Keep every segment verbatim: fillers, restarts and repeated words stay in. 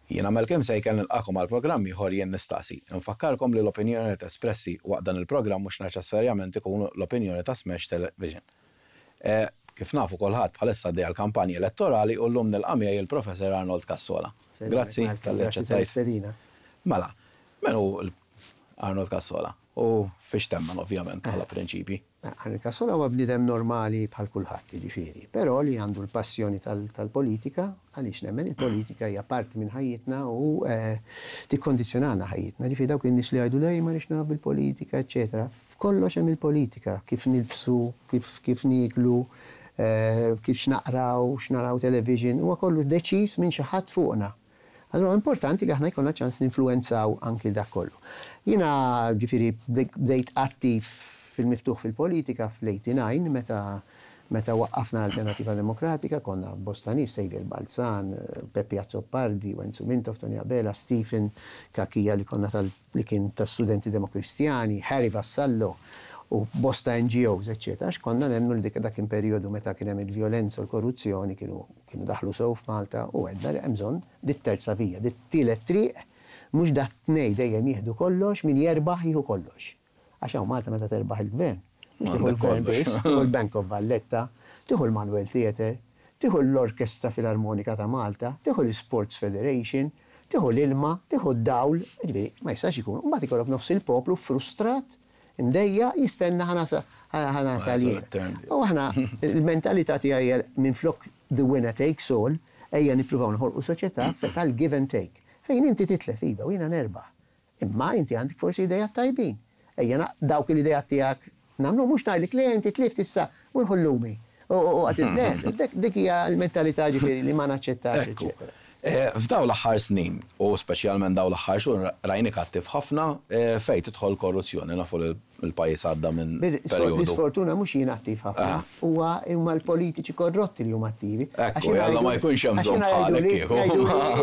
Jiena Malcolm Sejken nilqagħkom għal programm ieħor Jien Nistaqsi. Nfakkarkom li l-opinjoni espressi waqt dan il-programm mhux neċessarjament ikunu l-opinjoni ta' Smash Television. E, kif nafu kulħadd, bħalissa għaddejja l-kampanja elettorali u llum nilqa' miegħi il-Professor Arnold Cassola. Grazzi talli aċċettajt. Mela, min hu Arnold Cassola? U fiex temmen, ovvjament, bħala prinċipi? Arnold Cassola huwa bniedem normali bħal kulħadd, jiġifieri, però li għandu l-passjoni tal-politika, għaliex nemmen il-politika hija parti minn ħajjitna u eh, tikkondizzjonalna ħajjitna. Ġifieri dawk in-nies li jgħidu lej ma rix naf bil-politika, eċetera. F'kollox hemm il-politika, kif nilbsu, kif kif nieklu, eh, kif x'naqraw, x'naraw television, huwa kollu deċiż minn xi ħadd fuqna. Allora importanti li aħna jkollna ċans ninfluenzaw anki dak kollu. Jiena ġifieri bdejt attiv fil-miftuħ fil-politika fl-eighty-nine meta meta waqqafna l-Alternativa Demokratika. Konna bosta nies, Xavier Balzan, Peppi Azzopardi, Wenzu Mintoff, Tony Abela, Stephen Cachia li konna tal li kien ta' studenti demokristjani, Harry Vassallo u bosta N G Os, eccetera. Għax konna nemmnu li dik dak kien periodu meta kien hemm il-vjolenza u l-korruzzjoni kienu kienu daħlu sew f'Malta u għedna li hemm bżonn dit-terza vija, dit-tielet triq, mhux dat-tnejn dejjem jieħdu kollox, min jerbaħ jieħu kollox. Għax hawn Malta meta terbaħ il-gvern, mhux tieħu l-gvern biss, tieħu l-Bank of Valletta, tieħu l-Manuel Theatre, tieħu l-Orkestra Filarmonika ta' Malta, tieħu l-Sports Federation, tieħu l-ilma, tieħu d-dawl, ġifieri ma jistax ikun. Mbagħad ikollok nofs il-poplu frustrat, imdejjaq, jistenna ħa nasal jien. U aħna il-mentalità tiegħi, minn flok the winner takes all, ejja nippruvaw noħolqu soċjetà tal-give and take. Fejn inti titlef, iva, u jiena nerbaħ. Imma inti għandek forsi idejat tajbin. Ejja dawk l-idejat tiegħek nagħmlu, mhux ngħidlek li inti tlift issa u nħullumi. U għat dik hija l-mentalità ġifieri li ma naċċettax, eċetera. Eh, f'daw l-aħħar snin, u speċjalment daw l-aħħar xhur, rajnik attiv ħafna eh, fejn tidħol korruzzjoni. Nafu li l-pajjiż għadda minn perjodu. L-isfortuna mhux jien attiv ħafna, huwa huma l-politiċi korrotti li huma attivi. Ekku, jalla ma jkunx hemm bżonn bħalek kieku.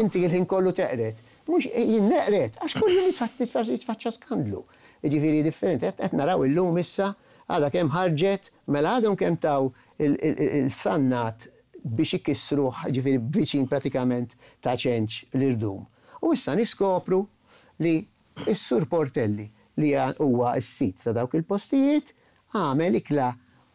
Inti il-ħin kollu teqred. Mhux jien neqred, għax kull jitfaċċa skandlu. Ġifieri differenti, qed naraw illum issa għadha kemm ħarġet, mela għadhom kemm taw il-Sannat biex ikissruh, ġifieri viċin pratikament Ta' Ċenċ l-irdum. U issa niskopru li s-Sur Portelli, li huwa s-sid ta' dawk il-postijiet, għamel ikla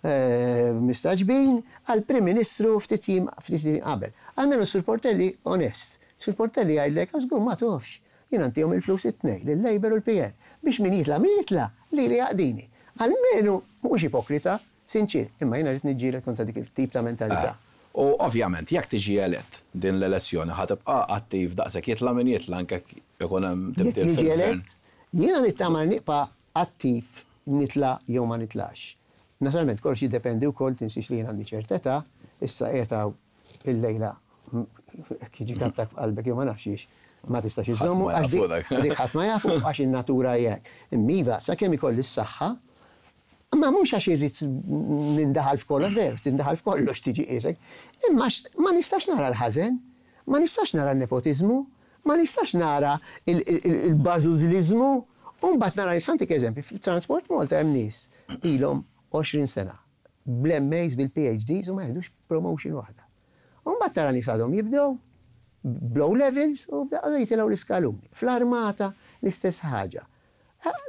eh, mistagħġbin għal-Prim Ministru ftit jiem qabel. Almenu Sur Portelli onest. Sur Portelli jgħidlek, "Żgur ma tafx. Jien ntihom il-flus it-tnejn, l-Labour u l-P N. Biex min jitla' min jitla' li li jaqdini." Almenu mhux ipokrita, sinċir, imma jiena rrid niġġieled kontra dik il-tip ta' mentalità. Ah. U ovvjament, jekk tiġi elett din l-elezzjoni, ħa tibqa' attiv daqshekk jitla' min jitla', anke ikun hemm tibdil fil-gvern? Jiena nittama nibqa' attiv nitla' jew ma nitlax. Naturalment kollox jiddependi wkoll, tinsiex li jien għandi ċerta età, issa qiegħed il-lejla jiġi attakk f'qalbek jew ma nafx, ma tistax iżommu, għax dik ħadd ma jafu, għax in-natura hekk. Imma iva, sakemm ikolli s-saħħa, ma mhux għax irrid nindaħal f'kollox, veru, tindaħal f'kollox tiġi qisek, imma ma nistax nara l-ħażen, ma nistax nara l-nepotizmu, ma nistax nara il-bażużliżmu, u mbagħad nara, ħa ntik eżempju, Transport Malta hemm nies ilhom għoxrin sena, bl-M As, bil-P H Ds u ma jieħdux promotion waħda. U mbagħad tara nies għadhom jibdew b'O levels u bdew jitilgħu l-iskaluni. Fl-armata l-istess ħaġa.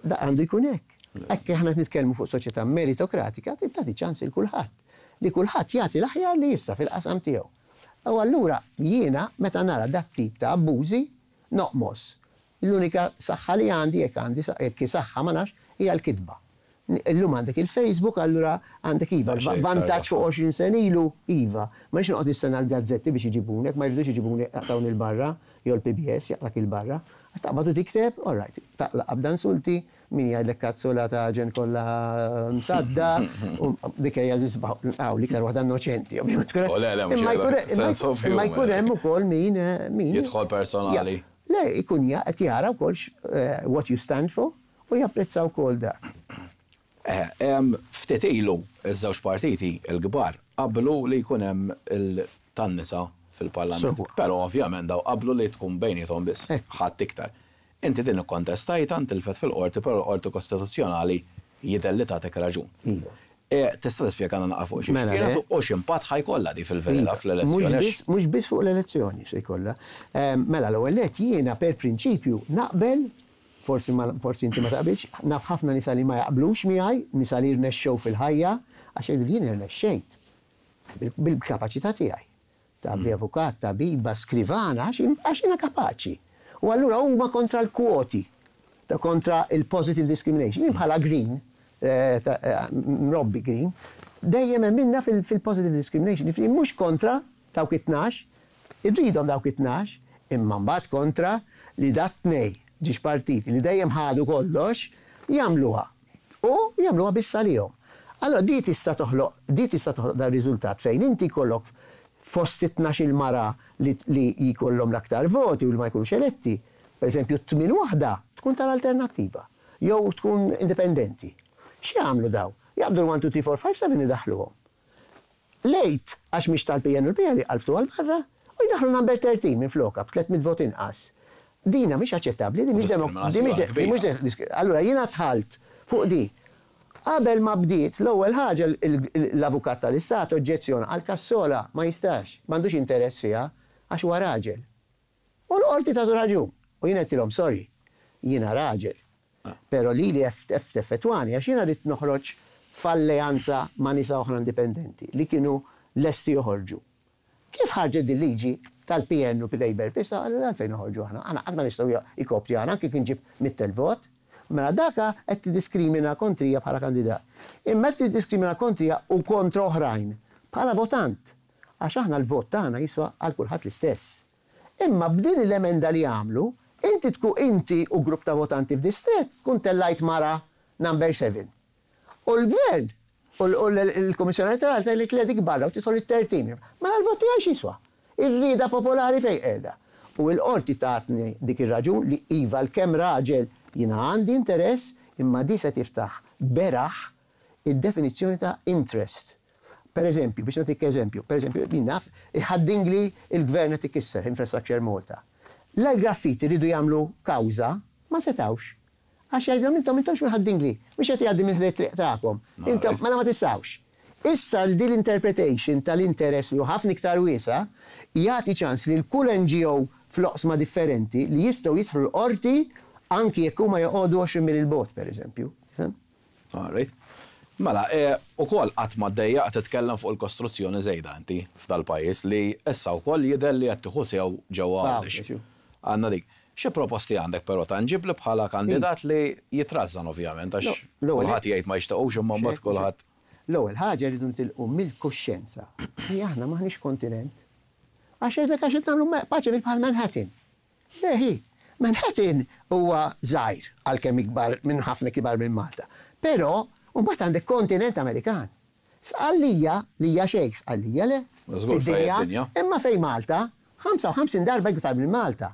Da għandu jkun hekk. Hekk aħna nitkellmu fuq soċjetà meritokratika, tagħti ċans il kulħadd. Li kulħadd jagħti l-aħjar li jista' fil-qasam tiegħu. U allura jiena meta nara dat tip ta' abbużi noqmos. L-unika saħħa li għandi, jekk għandi jekk saħħa ma nafx, hija l-kitba. Illum għandek il-Facebook, allura għandek, iva, vantaġġ fuq għoxrin sena ilu, iva. Ma nix noqgħod nistenna l-gazzetti biex iġibunek, ma jridux iġibuni jaqtawni 'l barra, jew l-P B S jaqtak 'il barra. Taqbad u tikteb, all right, taqla' qabda insulti, min jgħidlek kazzola ta' ġen kollha msadda, u dik hija l-isbaħ, l-iktar waħda innoċenti, ovvjament. Imma jkun hemm ukoll min min jidħol personali. Le, ikun qed jara wkoll eh, what you stand for u japprezza wkoll dak. Eh, ftit ilu iż-żewġ partiti il-kbar qablu li jkun hemm il-tan-nisa fil-parlament. Però ovvjament daw qablu li tkun bejniethom biss, ħadd iktar. Inti din ikkontestajta, intilfet fil-qorti, però l-Qorti Kostituzzjonali jidher li tagħtek raġun. Iva. Tista' tispjegana naqra fuq xi kienet u x'impatt ħa jkollha di fil-verità fl-elezzjoni? Mhux biss fuq l-elezzjoni se jkollha. Mela l-ewwel nett jiena per prinċipju naqbel, forsi forsi inti ma taqbilx, naf ħafna nisa li ma jaqblux miegħi, nisa li rnexxew fil-ħajja, għax jgħidu li jien irnexxejt bil-kapaċità tiegħi. Ta' avukat, tabiba, skrivana, għax jiena kapaċi. U allura huma kontra l-kwoti, ta' kontra il-positive discrimination. Jien bħala Green, mrobbi Green, dejjem minna fil-positive discrimination. Mhux kontra dawk it-tnax, irridhom dawk it-tnax, imma mbagħad kontra li dat tnej ġiex partiti li dejjem ħadu kollox, jagħmluha. U jagħmluha biss għalihom. Allora di tista' toħloq, di tista' toħloq dar riżultat fejn inti kollok fost it-tnax il-mara li jkollhom l-aktar voti u li ma jkunux eletti. Per eżempju, tmien waħda tkun tal-alternattiva jew tkun indipendenti. X'jagħmlu daw? Jaqbdu l-one, two, three, four, five, seven idaħluhom. Lejt, għax mhix tal-P N u l-P L jqalftu għal barra u jdaħlu number thirteen minn floka b'tliet mitt vot inqas. Dina mhix aċċettabbli, di mhix mhix. Allura jiena dħalt fuq di. Qabel ma bdiet, l-ewwel ħaġa l-avukat tal-Istat oġġezzjona għal Cassola ma jistax, m'għandux interess fiha għax huwa raġel. U l-qorti tagħtu raġun. U jiena għedtilhom sorry, jiena raġel. Però li li effettwani għax jiena rrid noħroġ f'alleanza ma' nisa oħra indipendenti li kienu lesti joħorġu. Kif ħarġet din liġi tal-P N u Labour pisa, għalfejn noħorġu aħna? Aħna qatt ma nistgħu ikopti aħna kif nġib mitt elf vot. Mela daka qed tiddiskrimina kontrija bħala kandidat. Imma qed tiddiskrimina kontrija u kontra oħrajn bħala votant. Għax aħna l-vot tagħna jiswa għal kulħadd l-istess. Imma b'din l-emenda li għamlu, inti tkun inti u grupp ta' votanti f'distret tkun tellajt mara number seven. U l-gvern u l-Komissjoni Elettorali tgħidlek le, dik barra u tidħol it-tlettax. Mela l-vot tiegħi x'jiswa? Ir-rieda popolari fejn qiegħda? U l-qorti tatni dik ir-raġun li iva l-kemm raġel jiena għandi interess, imma di se tiftaħ beraħ id-definizzjoni ta' interest. Per eżempju, biex nagħtik eżempju, per eżempju, jien naf, Ħad-Dingli il-gvern qed ikisser Infrastructure Malta. La l-graffiti ridu jagħmlu kawża, ma setawx. Għax jgħidlhom intom intomx minn Ħad-Dingli, mhux qed jgħaddi minn ħdej triq tagħkom. Intom mela ma tistgħux. Issa din l-interpretation tal-interess li hu ħafna iktar wiesa' jagħti ċans li l-kull N G O fl-oqsma differenti li jistgħu jidħlu l-qorti anki jekk huma joqogħdu għoxrin mil il-bogħod, per eżempju. All right. Mela, ukoll qatt ma ddejjaq titkellem fuq il-kostruzzjoni żejda inti f'dal-pajjiż li issa wkoll jidher li qed tieħu sew ġewwa Għawdex. Għandna dik. Xi proposti għandek però tanġibli bħala kandidat li jitrażżan ovvjament, għax kulħadd jgħid ma jixtiequx, imma mbagħad kulħadd. L-ewwel ħaġa rridu nitilqu mill-kuxjenza li aħna maħniex kontinent. Għax jgħidlek għax qed nagħmlu Paceville bħal Manhattan. Leħi, Manhattan huwa żgħir għalkemm ikbar minn ħafna kibar minn Malta. Però mbagħad għandek kontinent Amerikan. Sqallija li hija xejn, Sqallija le. Fid-dinja. Imma fejn Malta, ħamsa u ħamsin darba iktar minn Malta.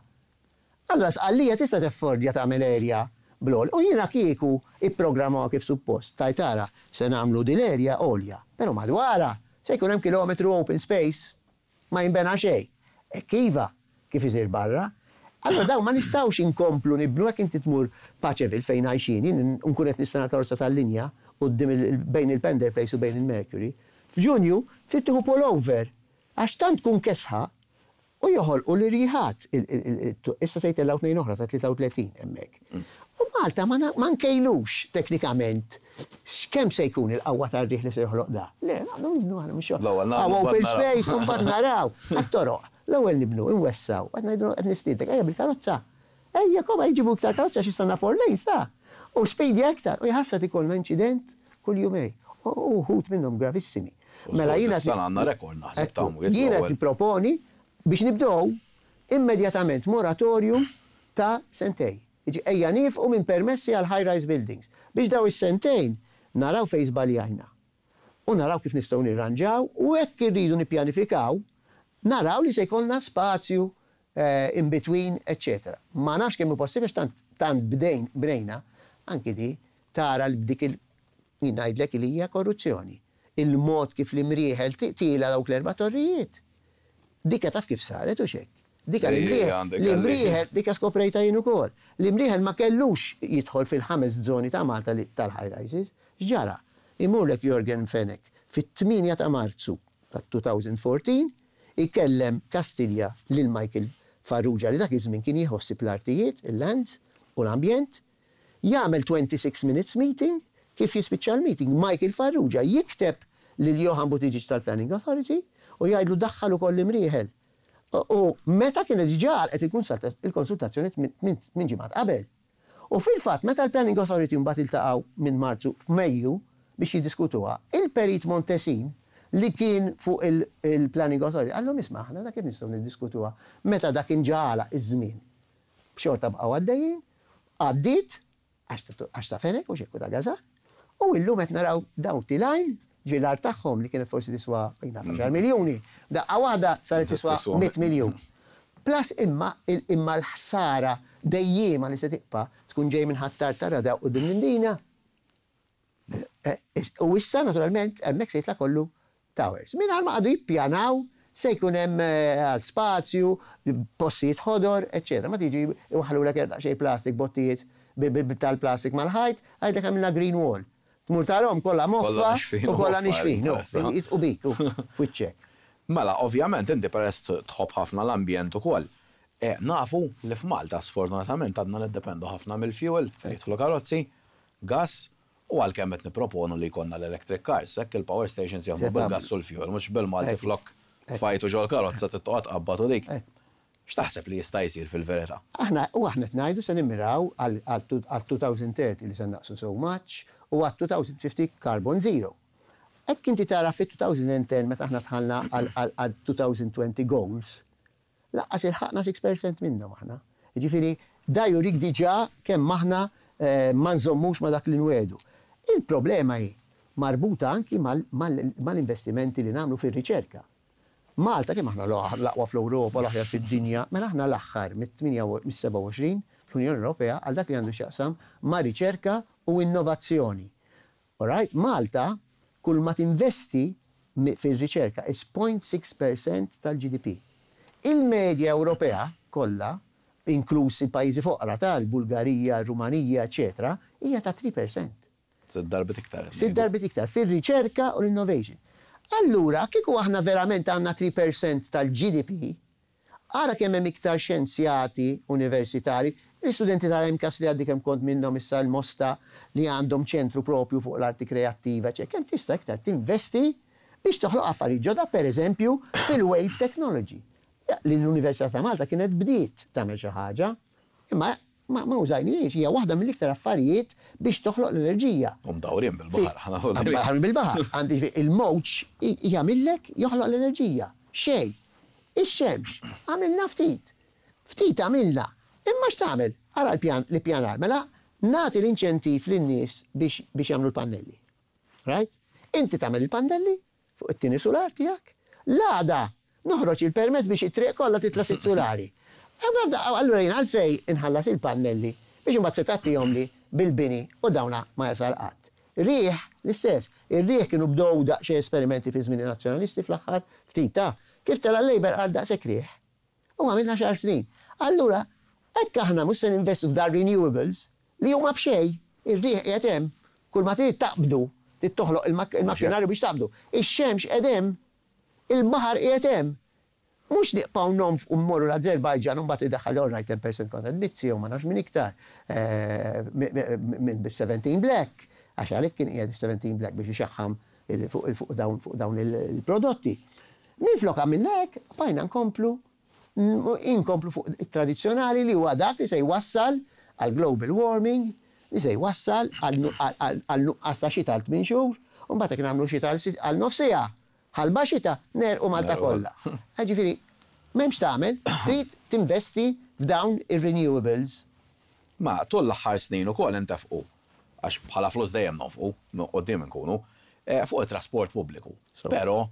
Allora Sqallija tista' teffordja tagħmel area blol. U jiena kieku ipprogrammaw kif suppost. Tajtara se nagħmlu din l-area għolja. Però madwara se jkun hemm kilometru open space, ma jinbena xejn. E kiva kif isir barra. Allora daw ma nistgħux inkomplu nibnu. Hekk inti tmur Paceville fejn għajxin, nkun qed nistenna karozza tal-linja quddiem bejn il-Pender Place u bejn il-Mercury. F'Ġunju trid tieħu pullover għax tant tkun kesħa u joħolqu l-irjiħat. Issa se jtellgħu tnejn oħra ta' tlieta u tletin hemmhekk. U Malta ma nkejlux teknikament kemm se jkun il-qawwa tar-riħ li se joħloq da. Le, nagħmlu nibnu aħna mhux open space u mbagħad naraw. Għat-toroq. L-ewwel nibnu, inwessaw, qed ngħidu qed nistiedek, ejja bil-karozza. Ejja koma jġibu iktar karozza xi sanna four lanes ta' u speedi aktar. U jħassat ikollna inċident kull jumej. U wħud minnhom gravissimi. Mela jiena għandna rekord naħseb ta' Jiena tipproponi biex nibdew immedjatament moratorium ta' sentej. Ejja nieqfu minn permessi għal high-rise buildings. Biex daw is-sentejn naraw fejn żbaljajna. U naraw kif nistgħu nirranġaw u hekk irridu nippjanifikaw, naraw li se jkollna spazju eh, in between, eccetera. Ma nafx kemm hu possibbli tant tant bdejn bnejna anki di tara l b'dik il ngħidlek li hija korruzzjoni. Il-mod kif l-Imrieħel tila dawk l-erba' torrijiet. Dikka taf kif saret u xek. Dikka l-Imrieħel, l-Imrieħel, dikka skoprejta jien ukoll. L-Imrieħel ma kellux jidħol fil-ħames zoni ta' Malta tal-high rises. X'ġara? Imurlek Yorgen Fenech fit-tmienja ta' Marzu ta' elfejn u erbatax, ikellem Kastilja lil Michael Farrugia li dak iż-żmien kien jieħu ħsieb l-artijiet, il-lands u l-ambjent, jagħmel twenty-six minutes meeting. Kif jispiċċa l-meeting, Michael Farrugia jikteb lil Johann Buttigieg tal-Planning Authority u jgħidlu daħħal ukoll l-Imrieħel. U meta kienet diġà qed il-konsultazzjoni minn ġimgħat qabel. U fil-fatt, meta l-Planning Authority mbagħad iltaqgħu minn Marzu f'Mejju biex jiddiskutuha, il-Perit Montesin li kien fuq il-Planning Authority qallhom, "Isma', aħna dak kif nistgħu niddiskutuha meta dak inġala iż-żmien?" B'xorta bqgħu għaddejjin, għaddiet għax ta' Fenech u xekku ta' Gaza, u illum qed naraw dawn tilajn ġifieri l-art tagħhom li kienet forsi tiswa għaxar miljuni, daqqa waħda saret tiswa mitt miljun. Plus imma imma l-ħsara dejjema li se tibqa' tkun ġej minn Ħ'Attard tara u din l-Imdina. Eh, u issa naturalment hemmhekk se jitla' kollu towers. Minn ma għadu jippjanaw se jkun hemm eh, għal spazju, postijiet ħodor, eċċetera. Ma tiġi iwaħħlulek xejn plastik, bottijiet tal-plastik mal-ħajt, għajdek għamilna green wall. Tmur tarahom kollha moffa u kollha nixfin. U bik, u fwiċċek. Mela, ovvjament, inti peress tħobb ħafna l-ambjent ukoll. E, nafu li f'Malta sfortunatament għadna niddependu ħafna mill-fuel fejn jidħlu karozzi, gas, u għalkemm qed nipproponu li jkollna l-electric cars, hekk il-power stations jaħdmu bil-gas u l-fuel, mhux bil-Malti flok tfajtu ġol karozza tittoqgħod tqabbad u dik. X'taħseb li jista' jsir fil-verità? Aħna u aħna ngħidu se nimmiraw għal elfejn u tletin li se naqsu so much u għal elfejn u ħamsin carbon zero. Hekk inti tara fit-elfejn u għaxra meta aħna dħalna għal elfejn u għoxrin goals, lanqas ilħaqna sitta fil-mija minnhom aħna. Ġifieri, da jurik diġà kemm aħna eh, ma nżommux ma dak li nwiegħdu. Il-problema hi marbuta anki mal-investimenti li nagħmlu fir-riċerka. Malta kemm aħna l-aqwa fl-Ewropa, l-aħjar fid-dinja, mela aħna l-aħħar mit-seba' u għoxrin fl-Unjoni Ewropea għal dak li għandu x'jaqsam ma' riċerka u innovazzjoni. Alright, Malta kull ma tinvesti fil-riċerka is zero punt sitta fil-mija tal-G D P. Il-medja Ewropea kollha, inklusi pajjiżi foqra tal-Bulgarija, Rumanija, eċetera, hija ta' tlieta fil-mija. Sitt darbit iktar. Sitt darbit iktar fil-riċerka u l-innovation. Allura, kieku aħna verament għandna tlieta fil-mija tal-G D P, ara kemm hemm iktar xjenzjati universitari, l-istudenti tal-M C A S li għaddi kemm kont minnhom issa l-Mosta li għandhom ċentru propju fuq l-arti kreattiva, ċe kemm tista' iktar tinvesti biex toħloq affarijiet ġodda, per eżempju, fil-wave technology. Li l-Università ta' Malta kienet bdiet tagħmel xi ħaġa, imma ma, ma użajniex, hija waħda mill-iktar affarijiet biex toħloq l-enerġija. U mdawrin bil-baħar. Mdawrin bil-baħar. Għandi il-mowġ jagħmillek joħloq l-enerġija. Xej. Ix-xemx, għamilna ftit. Ftit għamilna. Imma x'tagħmel? Ara l-pjan li pjanar. Mela nagħti l-inċentiv lin-nies biex biex jagħmlu l-pannelli. Right? Inti tagħmel il-pannelli fuq it-tieni solar tiegħek. L-għada noħroġ il-permess biex it-triq kollha titla' sitt solari. Allura jien għalfej inħallas il-pannelli biex imbagħad se tagħtihom li bil-bini u dawna ma jasal qatt? Riħ l-istess. Ir-riħ kienu bdew daqsxejn esperimenti fi żmien nazzjonalisti fl-aħħar ftit ta' kif tela' Labour għal daqshekk riħ. U għamilna xar snin. Allura, hekk aħna mhux se ninvestu f'dar renewables li huma b'xejn, ir-riħ qiegħed hemm, kull ma trid taqbdu, trid toħloq il-makkinarju biex taqbdu. Ix-xemx qiegħed hemm, il-baħar qiegħed hemm. Mhux nibqgħu nonfqu mmorru l-Azerbajġan u mbagħad idaħħal, all right, ten percent kontra Mizzi u ma nafx minn iktar eh, minn bis-seventeen Black, għax għalhekk kien qiegħed seventeen Black biex ixaħħam fuq dawn fuq dawn il-prodotti. Minflok għamilna hekk, bqajna nkomplu inkomplu fuq it-tradizzjonali li huwa dak li se jwassal għal global warming, li se jwassal għal nuqqas ta' xita għal tmien xhur, u mbagħad jekk nagħmlu xita għal nofs siegħa, ħalba xita, negħrqu Malta kollha. Ġifieri, m'hemmx tagħmel, trid tinvesti f'dawn ir-renewables. Ma tul l-aħħar snin ukoll intefqu, għax bħala flus dejjem nofqu, qudiem nkunu, eh, fuq it-trasport pubbliku. Però,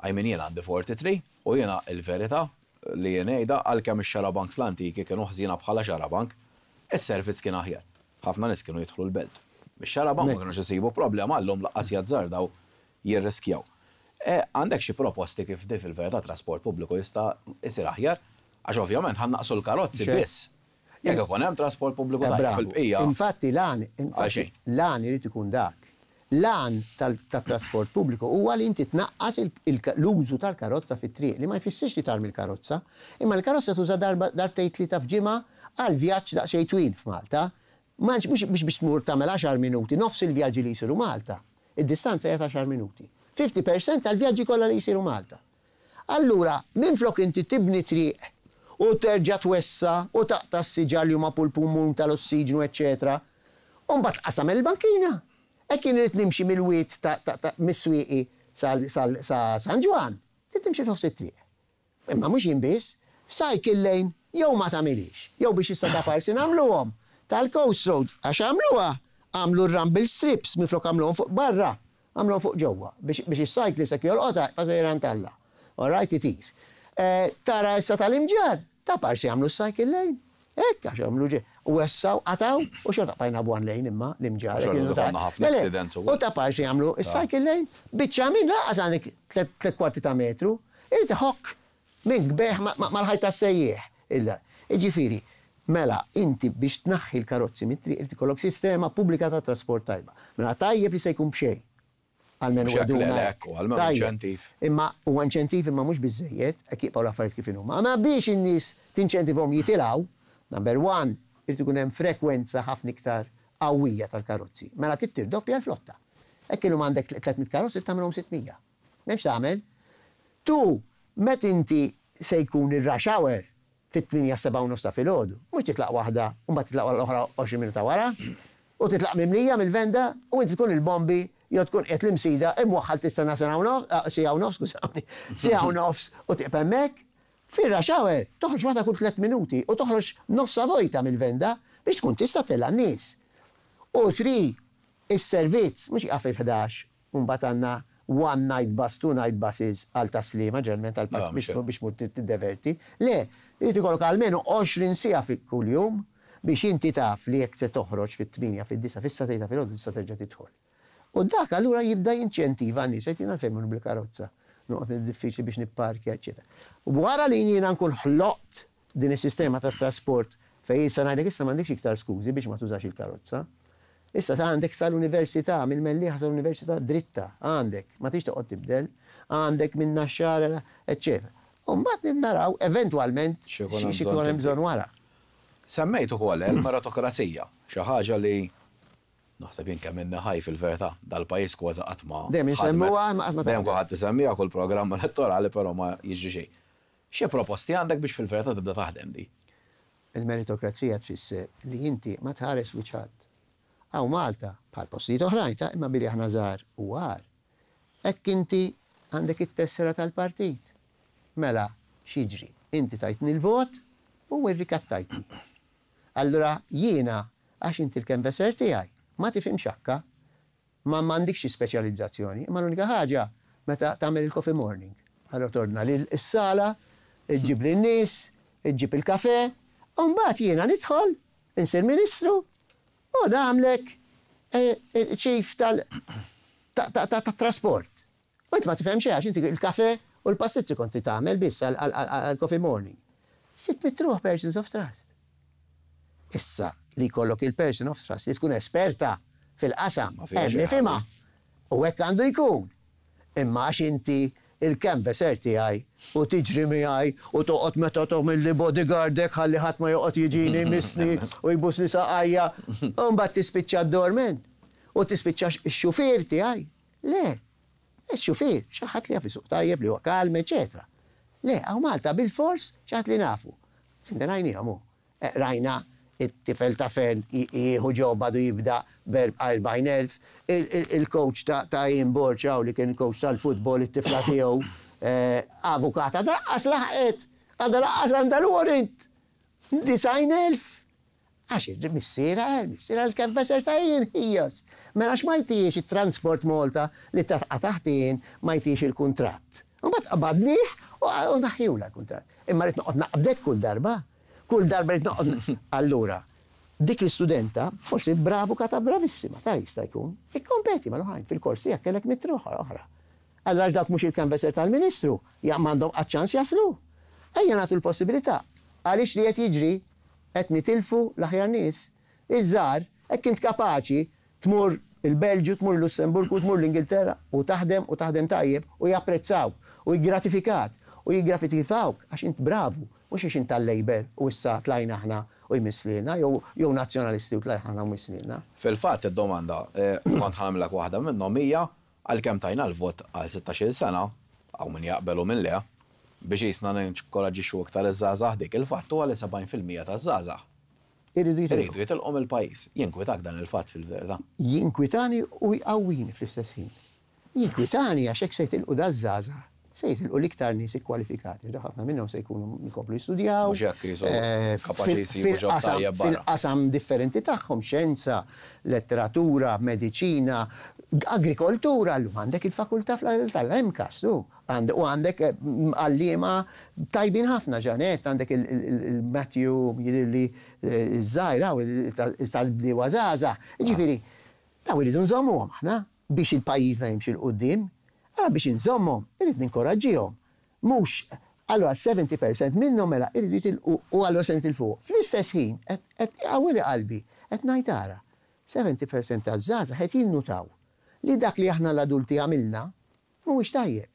I mean, jien għandi erbgħa u tletin u jiena il-verità li jien ngħidha, għalkemm ix-xarabanks l-antiki kienu ħżiena bħala xarabank, is-servizz kien aħjar. Ħafna nies kienu jidħlu l-belt. Bix-xarabank ma kienux isibu problema, llum lanqas jazzardaw jirriskjaw. E, għandek xi proposti kif di fil-verità trasport pubbliku jista' jsir aħjar? Għax ovvjament ħa naqsu l-karozzi biss jekk ikun hemm trasport pubbliku tajjeb, fil-bqija. Infatti l-għan, infatti l-għan irid ikun dak. L-għan tat-trasport pubbliku huwa li inti tnaqqas l-użu tal-karozza fit-triq, li ma jfissirx li tarmi l-karozza, imma l-karozza tuża darbtejn, tlieta f'ġimgħa għal vjaġġ daqsxejn twil f'Malta. Mhux biex biex tmur tagħmel għaxar minuti, nofs il-vjaġġi li jsiru Malta. Id-distanza hija għaxar minuti. fifty percent tal-vjaġġi kollha li jsiru Malta. Allura, minflok inti tibni triq u terġa' twessa' u taqta' s-siġar li huma pulmun tal-ossiġnu, eċċetera. U mbagħad qas tagħmel il-bankina. Hekk jien irid nimxi mill-wied ta' mis-Swieqi sa San Ġwann, trid timxi f'nofs it-triq. Imma mhux jien biss, cycle lane jew ma tagħmilix, jew biex issa ta' parsi nagħmluhom. Tal-Coast Road, għax għamluha, għamlu rumble strips minflok għamluhom fuq barra, għamluhom fuq ġewwa, biex is-cyclist jekk jolqotha pa' talla. All right, itir. Eh, tara issa tal-Imġarr, ta' parsi għamlu cycle lane. Hekk għax għamlu ġe. U wessgħu, qatgħu, u xorta bqajna one lane imma l-Imġarr. U ta' parsi għamlu il-cycle lane, biċċa minn lanqas għandek tliet kwarti ta' metru, irid iħokk minn gbeħ mal-ħajta sejjieħ. Illa, ġifieri, mela, inti biex tnaħħi l-karozzi mit-triq irid ikollok sistema pubblika ta' trasport tajba. Mela tajjeb li se jkun b'xejn. Almenu għeduna. Inċentiv. Imma u inċentiv, imma mhux biżejjed, hekk jibqgħu l-affarijiet kif huma. Ma biex in-nies tinċentivhom jitilgħu, number one, irid ikun hemm frekwenza ħafna iktar qawwija tal-karozzi. Mela trid tirdoppja l-flotta. Hekk illum għandek tliet mitt karozzi, tagħmilhom sitt mija. M'hemmx tagħmel. Tu, met inti se jkun ir-rush hour fit-tmienja, sebgħa u nofs ta' filgħodu, mhux titlaq waħda u mbagħad titlaq l-oħra għoxrin minuta wara, u titlaq mimlija mill-venda u inti tkun il-Bombi jew tkun qed l-Imsida imwaħħal tistenna sena u nofs, ah, siegħa u nofs, skużawni, siegħa u nofs u tieqaf hemmhekk. Fir-rush hour toħroġ waħda kull tliet minuti u toħroġ nofsa vojta mill-venda biex tkun tista' tella' n-nies. U three, is-servizz mhux jaqaf il-ħdax u mbagħad għandna one night bus, two night buses għal Tas-Sliema, ġeneralment għal Ah, biex mhux biex mur tiddeverti. Le, irid ikollok almenu għoxrin siegħa fi kuljum biex inti taf li jekk se toħroġ fit-tmienja, fid-disgħa, fis-sagħtejn ta' filgħodu tista' terġa' tidħol. U dak allura jibda jinċentiva n-nies, qed jiena fejn bil-karozza, noqgħod diffiċli biex nipparkja, eċċetera. Wara li jiena nkun ħloqt din is-sistema tat trasport fejn issa ngħidlek issa m'għandekx iktar skużi biex ma tużax il-karozza. Issa sa għandek sal-università, mill-Mellieħa sal-università dritta, għandek, ma tix toqgħod tibdel, għandek minn Naxxar, eċċetera. U mbagħad naraw eventwalment xi jkun hemm xi jkun hemm bżonn wara. Semmejt ukoll il-meritokrazija, xi ħaġa li naħseb jien kemm inni ħaj fil-verità dal-pajjiż kważi qatt ma Dejjem ħadmet. insemmuha, ma qatt ma Dejjem taħdem. kulħadd isemmiha kull programm elettorali, però ma jiġri xejn. Xi proposti għandek biex fil-verità tibda taħdem di? Il-meritokrazija tfisser li inti ma tħares wiċċ. Hawn Malta, bħal postijiet oħrajn, ta' imma billi aħna żgħar u għar. Hekk inti għandek it-tessera tal-partit. Mela, x'jiġri? Inti tajtni l-vot u rrikattajtni. Allura jiena, għax inti l-canvasser tiegħi, ma tifhimx akka, ma m'għandikx xi speċjalizzazzjoni, imma l-unika ħaġa meta tagħmel il-coffee morning. Allora tordna lil is-sala, iġġib lin-nies, iġġib il-kafe, u mbagħad jiena nidħol, insir ministru, u nagħmlek eh, eh, chief tal ta' ta' ta' ta' trasport. U inti ma tifhem xejn għax inti il-kafe u l-pastizzi konti tagħmel biss għal-coffee morning. Sitt mitt ruħ persons of trust. Issa li jkollok il-person of trust li tkun esperta fil-qasam, Ma fiha hemm xejn. nifhimha. U hekk għandu jkun. Imma għax inti il-canvasser tiegħi u tiġri miegħi u toqgħod meta tagħmel li bodyguardek ħalli ħadd ma joqgħod jiġini misni u jbusni saqajja u mbagħad tispiċċa d-doorman u tispiċċa x-xufier tiegħi. Le, x-xufier, xi ħadd li jaf isuq tajjeb, li huwa kalm, eċetera. Le, hawn Malta bil-fors xi ħadd li nafu. Rajnihom hu. Eh, Rajna it-tifel ta' fen jieħu job għadu jibda b'erbgħin elf, il-coach ta' ta' Ian Borg li kien coach tal-futbol, it-tifla tiegħu eh, avukata, lanqas laħqet, għadha lanqas għandha l-warrant. Disgħin elf. Għax il-missiera, il-missiera l-canvasser ta' Ian Hijos. Mela għax ma jtix il-Transport Malta li ta' taħtin ma jtix il-kuntratt. U mbagħad qabadnieh u naħħiehulha l-kuntratt. Imma rrid noqgħod naqbdek kull darba. Kull darba rrid noqgħod. Allura, dik l-istudenta, forsi bravu kata bravissima, ta' jista' jkun, ikkompeti mal-oħrajn fil-kors tiegħek kellek mitt ruħ oħra. Allura dak mhux il-canvasser tal-Ministru, ja m'għandhom qatt ċans jaslu. Ejja nagħtu l-possibilità. Għaliex li qed jiġri, qed nitilfu l-aħjar nies. Iż-żgħar, hekk int kapaċi tmur Il-Belġju, tmur Lussemburgu, tmur l-Ingilterra u taħdem u taħdem tajjeb u japprezzaw u jiggratifikat u jiggratifikawk għax int bravu, mhux għax int tal-Labour u issa tlajna aħna u jmisslilna, jew nazzjonalisti u tlajna aħna u jmisslilna. Fil-fatt id-domanda, eh, kont ħa nagħmillek waħda minnhom, hija għalkemm tajna l-vot għal sittax-il sena, għaw min jaqbel u min le, biex jisna ninkoraġġixxu iktar iż-żgħażagħ dik, il-fatt huwa li sebgħin fil-mija taż-żgħażagħ Iridu jitilqu. Iridu jitilqu mill-pajjiż. Jinkwitak dan il-fatt fil-verità? Jinkwitani u jqawwini fl-istess ħin. Jinkwitani għax hekk se jitilqu daż-żgħażagħ, se jitilqu l-iktar nies ikkwalifikati. Da ħafna minnhom se jkunu jkomplu jistudjaw. Mhux hekk jisu eh, kapaċi fil- jsibu job fil-qasam- tajjeb barra. Fil-qasam differenti tagħhom, xjenza, letteratura, mediċina, agrikoltura, llum għandek il-fakultà tal-M C A S, tu. U għandek eh, għalliema tajbin ħafna ġanet, għandek il-Matthew, jidirli żgħir, tal-bdiewa żgħażagħ. Ġifieri, daw iridu nżommuhom aħna biex il-pajjiżna jimxi 'l quddiem. Allora biex nżommhom, irrid ninkoraġġihom. Mhux, allora sebgħin fil-mija minnhom mela irridu jitilqu u allora se nitilfuq. Fl-istess ħin, qed qawwili qalbi, qed ngħid ara, sebgħin fil-mija taż-żgħażagħ qed jinnutaw li dak li aħna l-adulti għamilna mhuwiex tajjeb.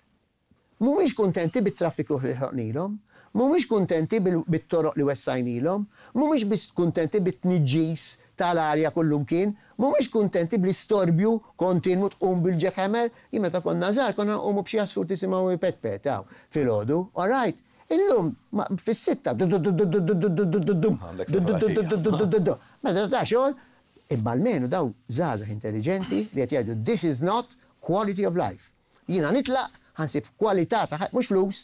Mhumiex kuntenti bit-traffiku li ħloqnilhom, mhumiex kuntenti bit-toroq li wessajnilhom, mhumiex biss kuntenti bit-tniġġis tal-arja kullumkien, mhumiex kuntenti bl-istorbju kontinwu tqum bil-jackhammer. Jien meta konna żgħar konna nqumu b'xi għasfur tisimgħu pet pet hawn filgħodu, all right. Illum fis-sitta du du du du du du du du du du du Għandek du du du sa du du du du du du. Meta ta' xogħol, imma almenu daw żgħażagħ intelligenti li qed jgħidu: "This is not quality of life. Jiena nitlaq, ħa nsib kwalità ta' ħajja, mhux flus,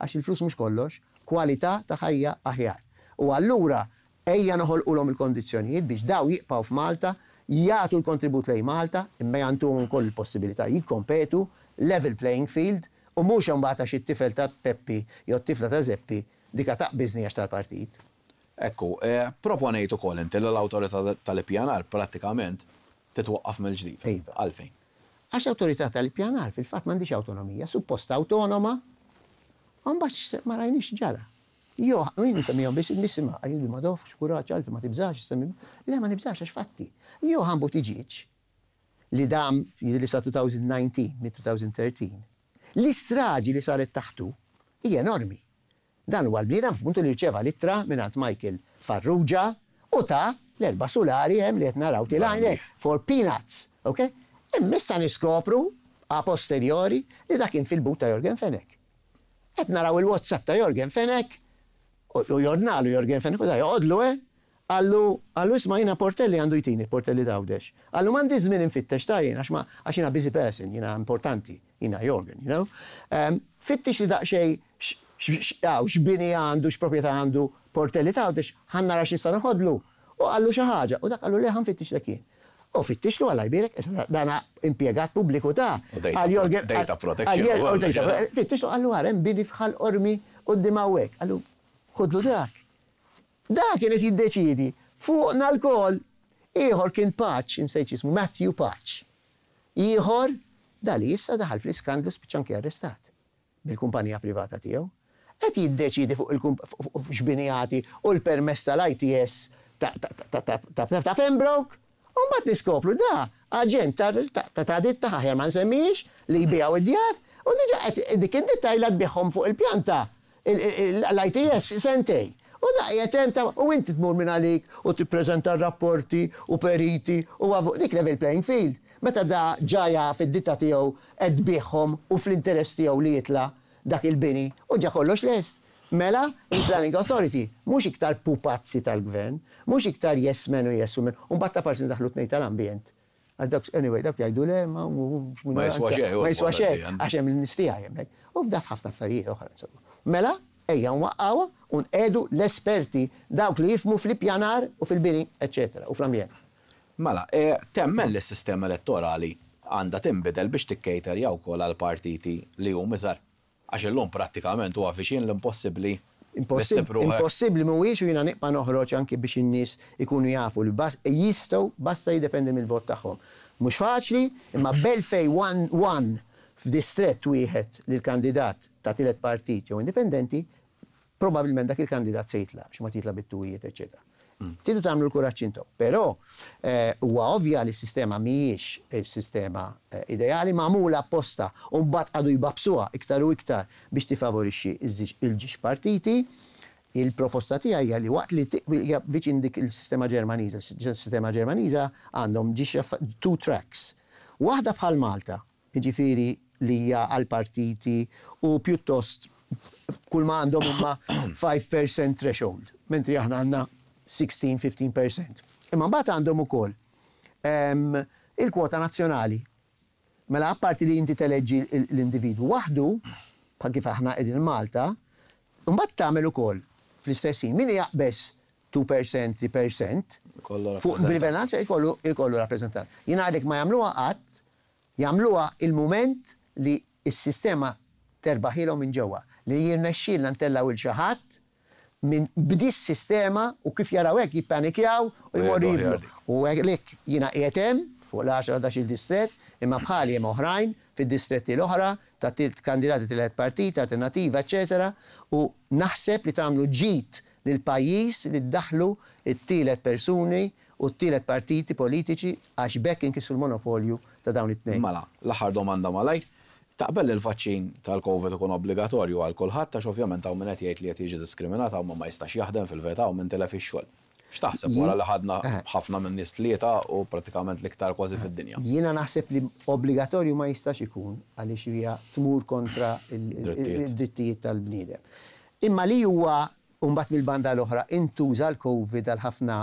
għax il-flus mhux kollox, kwalità ta' ħajja aħjar." U allura ejja noħolqulhom il-kondizzjonijiet biex daw jibqgħu f'Malta, jagħtu l-kontribut lejn Malta, imma jagħtuhom ukoll il-possibilità jikkompetu, level playing field, u mhux imbagħad għax it-tifel ta' Peppi jew t-tifla ta' Zeppi dika taqbiżni għax tal-partit. Ekku, eh, proponejt ukoll inti li l-awtorità tal-ippjanar prattikament titwaqqaf mill-ġdid. Iva. Għalfejn? Għax awtorità tal-ippjanar fil-fatt m'għandix awtonomija, suppost awtonoma, u mbagħad ma rajniex ġara. Jo, jien nsemmihom biss nisima, għajdu ma dofx, kuraġġ, għalfi ma tibżax, semmi. Le, ma nibżax għax fatti. Johann Buttigieg, li dam li sa elfejn u dsatax, mid-elfejn u tlettax, l-istraġi li saret taħtu hija enormi. Dan huwa l-bniedem appuntu li rċeva l-ittra mingħand Michael Farrugia u ta' l-erba' sulari hemm li qed naraw tilgħin for peanuts, ok? Imma issa niskopru a posteriori li dak kien fil-but ta' Yorgen Fenech. Qed naraw il-WhatsApp ta' Yorgen Fenech u u jordnalu Yorgen Fenech u da joqodlu, eh? Qallu, qallu isma', jiena Portelli għandu jtini, Portelli t'Għawdex. Qallu m'għandi żmien infittex ta' jien, għax ma għax jiena busy person, jiena importanti, jiena Yorgen, you know? Um, fittix li daqsxejn x'bini għandu, x'proprjetà għandu Portelli t'Għawdex, ħa nara x'nista' noħodlu. U qallu xi ħaġa, u dak qallu le, ħa nfittixlek jien. U fittixlu għalla jbirek, issa dana impjegat pubbliku ta' U data għal Yorgen- data protection għal- u u data kollox, Fittixlu, qallu għarem bini f'Ħal Qormi quddiem hawnhekk. Qallu ħudlu dak. Dak kien qed jiddeċidi fuqna lkoll. Ieħor kien Pace, insejt jismu, Matthew Pace. Ieħor dali issa daħal fl-iskandlu, spiċċa anke arrestat bil-kumpanija privata tiegħu. Qed jiddeċidi fuq il x'bini jagħti u l-permess tal-I T S ta' ta' ta' ta' ta' ta' Pembroke. U mbagħad niskopru da aġent ta' ta' ta' ditta, aħjar ma nsemmix, li jbijaw id-djar u diġà qed dik id-ditta ilha tbiegħhom fuq il-pjanta l-I T S sentej. U da qiegħed hemm ta' u inti tmur minn għalik u tippreżenta rapporti u periti u għavu dik level playing field. Meta da ġaja fid-ditta tiegħu qed tbiegħhom u fl-interess tiegħu li jitla' dak il-bini u ġa kollox lest. Mela, il-Planning Authority, mhux iktar pupazzi tal-gvern, mhux iktar yes men u yes women, u mbagħad ta' parsi daħlu tnejn tal-ambjent. Għal dak, anyway, dak jgħidu le, ma Ma jiswa xejn, ma jiswa xejn, l-ambjent. għax hemm l-nistija hemmhekk. U f'daf ħafna affarijiet oħra, insomma. Mela, ejja nwaqqawha u nqiegħdu l-esperti, dawk li jifhmu fl-ippjanar u fil-bini, eccetera, u fl-ambjent. Mela, e, temmen li s-sistema elettorali għandha tinbidel biex tikkejterja wkoll għal partiti li hum iżgħar? Għax illum prattikament huwa viċin l-impossibbli Impossibbli li ssib ruħek. Impossibbli mhuwiex u jiena nibqa' noħroġ anke biex in-nies ikunu jafu li bas jistgħu, basta jiddependi mill-vot tagħhom. Mhux faċli, imma b'elfejn one one f'distrett wieħed lil kandidat ta' tielet partit jew indipendenti, probabbilment dak il-kandidat se jitla', biex ma titla' bit-tuwijiet, eċċetera. Tridu tagħmlu l-kuraġġ intom. Però huwa ovvja li s-sistema mhijiex il-sistema ideali, magħmula apposta u mbagħad qagħdu jbabsuha iktar u iktar biex tifavorixxi il-ġiex partiti. Il-proposta tiegħi hija li waqt li hija viċin dik il-sistema Ġermaniża, il-sistema Ġermaniża għandhom ġiex two tracks. Waħda bħal Malta, jiġifieri li hija għal partiti u pjuttost kull ma għandhom huma five percent threshold, mentri aħna għandna sittax fifteen percent. Imma mbagħad għandhom ukoll il-kwota nazzjonali. Mela apparti li inti teleġġi l-individwu waħdu, bħal kif aħna qegħdin Malta, mbagħad tagħmel ukoll fl-istess ħin min jaqbeż two percent, three percent fuq bil jkollu jkollu rappreżentant. Jien għalek ma jagħmluha qatt, jagħmluha il-mument li s-sistema terbaħilhom minn ġewwa, li jirnexxielna ntellgħu 'l xi ħadd minn b'dis sistema u kif jaraw hekk jippanikjaw u jmorru jibnu. U hekk jiena qiegħed hemm fuq l-għaxra il-distret, imma bħali hemm oħrajn fid-distretti l-oħra ta' kandidati tielet partit, alternativa, eċetera. U naħseb li tagħmlu ġid lil pajjiż li ddaħlu it-tielet persuni u t-tielet partiti politiċi, għax b'hekk inkissru l-monopolju ta' dawn it-tnejn. Mela, l-aħħar domanda malajr. Taqbel li l-vaċċin tal-Covid ikun obbligatorju għal kulħadd, għax ovvjament hawn min qed jgħid li qed jiġi diskriminat, hawn ma jistax jaħdem fil-verità u min tilef ix-xogħol. X'taħseb wara li ħadna eh. ħafna minn nies tlieta u pratikament l-iktar kważi fid-dinja? Jiena naħseb li obbligatorju ma jistax ikun, għaliex hija tmur kontra il-drittijiet tal-bniedem. Imma li huwa Umbat mill-banda l-oħra intuża l-Covid għal ħafna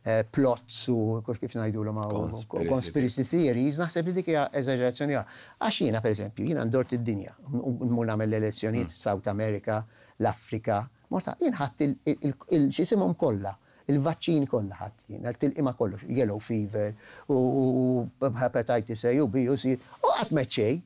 eh, plots u kif ngħidulhom conspiracy theories, naħseb li dik hija eżaġerazzjoni. Għax jiena, pereżempju, jiena ndort id-dinja, nmur nagħmel l-elezzjonijiet mm. South America, l-Afrika, morta, jien ħadd il-x'isimhom kollha, il-vaċċini kollha ħadd jien, il-tilqima kollox, yellow fever u hepatitis A u B u C, u qatt meċċej.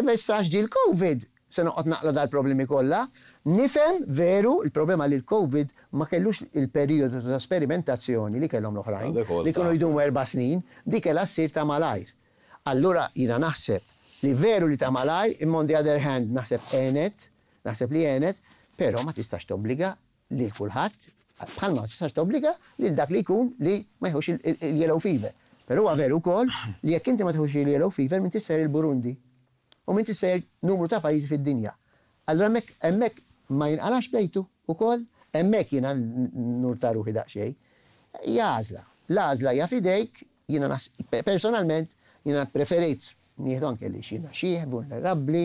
Issa ġie l-Covid, se noqgħod naqla dal-problemi kollha. Nifhem veru il-problema li l-Covid ma kellux il-perjodu ta' sperimentazzjoni li kellhom l-oħrajn, li kienu jdumu erba' snin, dik kellha ssir ta' malajr. Allura jiena naħseb li veru li ta' malajr, imma on the other hand naħseb għenet, naħseb li għenet, però ma tistax tobbliga lil kulħadd, bħalma ma tistax tobbliga lil dak li jkun li ma jħux il-yellow fever. Però huwa veru wkoll li jekk inti ma tħux il-yellow fever, minn tisser il-Burundi u minn tisser numru ta' pajjiżi fid-dinja. Allura hemmhekk hemmhekk ma jinqalax bejtu ukoll, hemmhekk jiena nurta ruħi daqsxejn. Hija għażla. L-għażla hija f'idejk, jiena personalment jiena preferejt nieħdu, anke li xina xieħ, vulnerabbli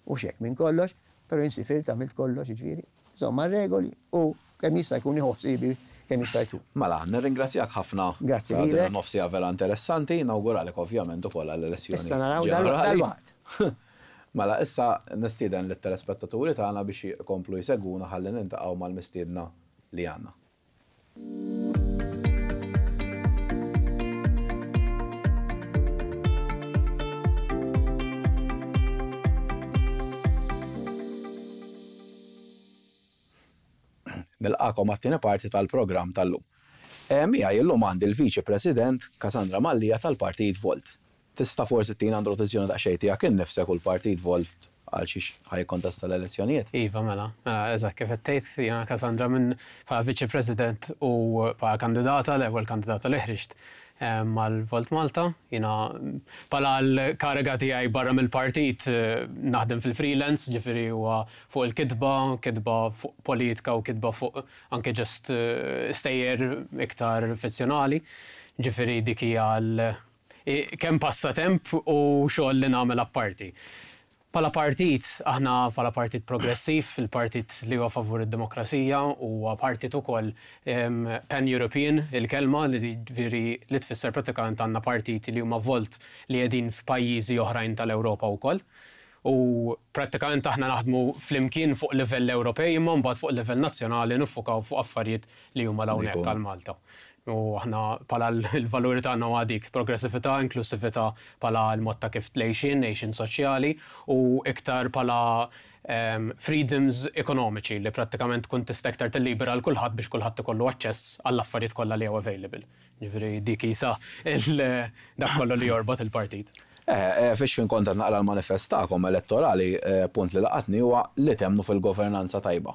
u xek minn kollox, però jien sifirt, għamilt kollox, ġifieri. Insomma, regoli u kemm jista' jkun iħossibi kemm jista' jkun. Mela, nirringrazzjak ħafna. Grazzi. Ta' nofs siegħa vera interessanti, nawguralek ovvjament ukoll għall-elezzjoni. Issa naraw dal-waqt. Mela, issa nistieden lit-telespettaturi tagħna biex jkomplu jsegwuna ħalli niltaqgħu mal-mistiedna li għandna. Nilqagħkom għat-tieni parti tal-programm tal-lum. E, Miegħi llum għandi l-Viċi President Cassandra Mallia tal-Partit Volt. Tista' forsi tina introduzzjoni daqsxejn tiegħek innifsek u l-Partit Volt, għal xiex ħa jikkontesta l-elezzjonijiet? Iva, mela, mela, eżatt kif qed tgħid, jiena Cassandra minn bħala Viċi President u bħala kandidata, l-ewwel kandidata li ħriġt mal-Volt Malta. Jiena bħala l-kariga tiegħi barra mill-partit eh, naħdem fil-freelance, ġifieri huwa fuq il-kitba, kitba fuq politika u kitba fuq anke just eh, stejjer iktar fizzjonali. Ġifieri dik hija l kemm passatemp u xogħol li nagħmel apparti. Bħala partit, aħna bħala partit progressiv, il-partit li huwa favur id-demokrazija, huwa partit ukoll pan-European, il-kelma li veri li tfisser pratikament għandna partiti li huma Volt li qegħdin f'pajjiżi oħrajn tal-Ewropa wkoll. U pratikament aħna naħdmu flimkien fuq livell Ewropej, imma mbagħad fuq livell nazzjonali niffukaw fuq affarijiet li huma hawnhekk għal Malta. U aħna bħala l-valuri tagħna huwa dik progressività, inklusività bħala l-mod ta' kif tlejxin, għejxin soċjali u iktar bħala um, freedoms ekonomiċi li prattikament tkun tista' iktar tillibera l kulħadd biex kulħadd ikollu aċċess għall-affarijiet kollha li huwa available. Ġifieri dik isa dak kollu li jorbot il-partit. Eh, eh, fiex kien kont naqra l-manifest tagħkom elettorali, eh, punt li laqatni huwa li temmnu fil-governanza tajba.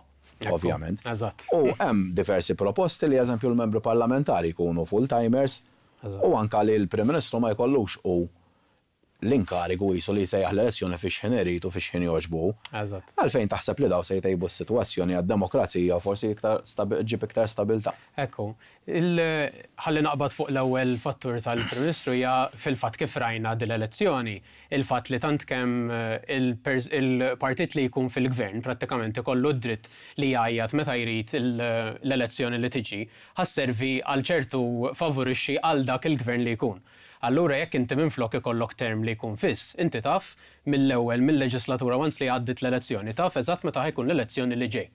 ovvjament. Eżatt. U hemm diversi proposti li, eżempju, l-membri parlamentari jkunu full-timers u anka li l-Prim Ministru ma jkollux u l-inkarigu jisu li jsejjaħ l-elezzjoni fi x'ħin irid u fi x'ħin jogħġbu. Eżatt. Għalfejn taħseb li daw se jtejbu s-sitwazzjoni għad-demokrazija u forsi iktar ġib iktar stabilta? Ekku, ħalli naqbad fuq l-ewwel fattur tal-Prim Ministru. Hija fil-fatt kif rajna dil-elezzjoni, il-fatt li tant kemm il-partit li jkun fil-gvern prattikament ikollu d-dritt li jgħajjat meta jrid l-elezzjoni li tiġi, ħa sservi għal ċertu favorixxi għal dak il-gvern li jkun. Allura jekk inti minflok ikollok term li jkun fiss, inti taf mill-ewwel mill-leġislatura, once li għaddit l-elezzjoni, taf eżatt meta ħa jkun l-elezzjoni li ġej.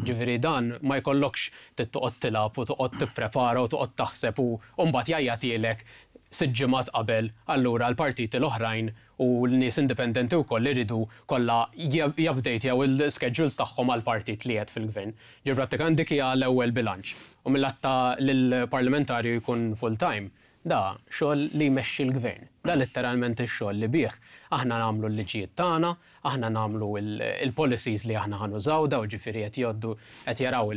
Ġifieri dan ma jkollokx toqgħod tilgħab u toqgħod tipprepara u toqgħod taħseb u mbagħad jgħajjatilek sitt ġimgħat qabel, allura l-partiti l-oħrajn u l-nies indipendenti wkoll iridu kollha jupdatjaw il-schedules tagħhom għal partit li qed fil-gvern. Ġifieri prattikament dik hija l-ewwel bilanċ. U mill ta' lill-parlamentarju jkun full-time, da xogħol li jmexxi l-gvern. Da letteralment ix-xogħol li bih aħna nagħmlu l-liġijiet tagħna, aħna nagħmlu il-policies li aħna ħa nużaw, daw ġifieri qed jgħoddu qed jaraw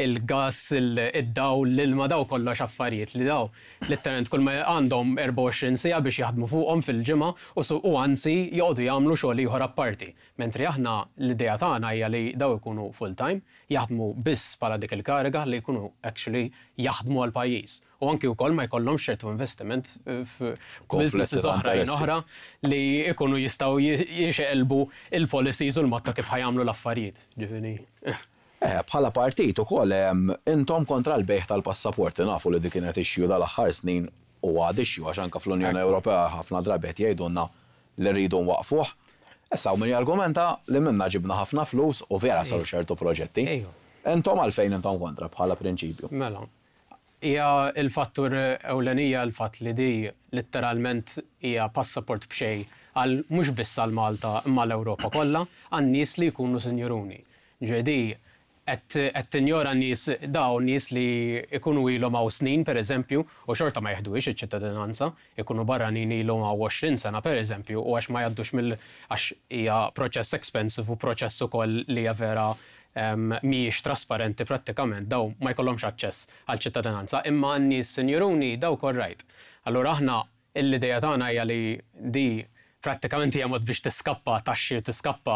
il-gas, id-dawl, l-ilma, daw kollox affarijiet li daw letteralment kull ma għandhom erbgħa u għoxrin siegħa biex jaħdmu fuqhom fil-ġimgħa u u anzi joqogħdu jagħmlu xogħol ieħor apparti. Mentri aħna l-idea tagħna hija li daw ikunu full time, jaħdmu biss bħala dik il-kariga li jkunu actually jaħdmu għal pajjiż. U anki wkoll ma jkollhomx ċertu investiment f'businesses oħrajn oħra li jkunu jistgħu jixeqilbu il-policies u l-mod ta' kif ħa jagħmlu l-affarijiet. Ġifieri. Eh, bħala partit ukoll intom kontra l-bejgħ tal-passaporti. Nafu li dik kienet issue dal-aħħar snin u għad issue, għax anke fl-Unjoni Ewropea ħafna drabi qed jgħidulna li rridu nwaqfuh. Issa min jargumenta li minna ġibna ħafna flus u vera saru ċertu proġetti. Intom għalfejn intom kontra bħala prinċipju? Mela, hija il-fattur ewlenija l-fatt li di letteralment hija passaport b'xejn għal mhux biss għal Malta imma l-Ewropa kollha għan nies li jkunu sinjuruni. Ġedi qed tinjora nies, daw nies li jkunu ilhom hawn snin, pereżempju, u xorta ma jeħduhiex iċ-ċittadinanza, ikunu barranin ilhom hawn għoxrin sena, pereżempju, u għax ma jgħaddux mill għax hija proċess expensive u proċess ukoll li hija vera mhijiex trasparenti prattikament, daw ma jkollhomx aċċess għal ċittadinanza, imma n-nies sinjuruni daw korrajt. Allura aħna l-idea tagħna hija li di prattikament hija mod biex tiskappa taxxi, tiskappa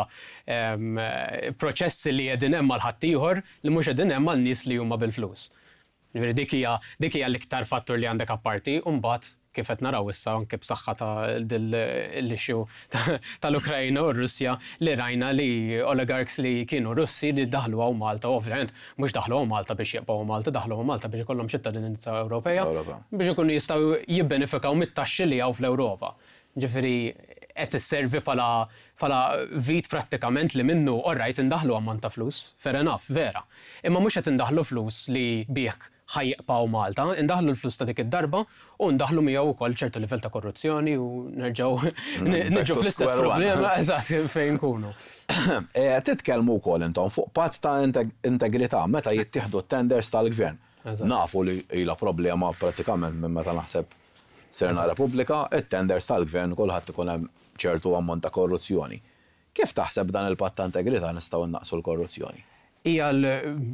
proċessi li qegħdin hemm għal ħaddieħor li mhux qegħdin hemm għal nies li huma bil-flus. Ġifieri dik hija dik hija l-iktar fattur li għandek apparti, u mbagħad kif qed naraw issa anke b'saħħa ta' l-issue tal-Ukrajna u r-Russja li rajna li oligarchs li kienu Russi li daħlu hawn Malta, ovvjament mhux daħlu hawn Malta biex jibqgħu Malta, daħlu hawn Malta biex ikollhom ċittadinanza Ewropea biex ikunu jistgħu jibbenefikaw mit-taxxi li hawn fl-Ewropa. Ġifieri qed isservi bħala bħala vit prattikament li minnu, alright, indaħlu ammont ta' flus, fair enough, vera. Imma mhux qed indaħlu flus li bih ħa jibqgħu Malta, indaħlu l-flus ta' dik id-darba u ndaħlu miegħu wkoll ċertu livell ta' korruzzjoni u nerġgħu niġu fl-istess problema eżatt fejn nkunu. Eh, titkellmu wkoll intom fuq patt ta' integrità meta jittieħdu tenders tal-gvern. Nafu li ilha problema pratikament minn meta naħseb sirna Repubblika, it-tenders tal-gvern kulħadd ikun hemm ċertu ammont ta' korruzzjoni. Kif taħseb dan il-patt ta' integrità nistgħu naqsu l-korruzzjoni? Hija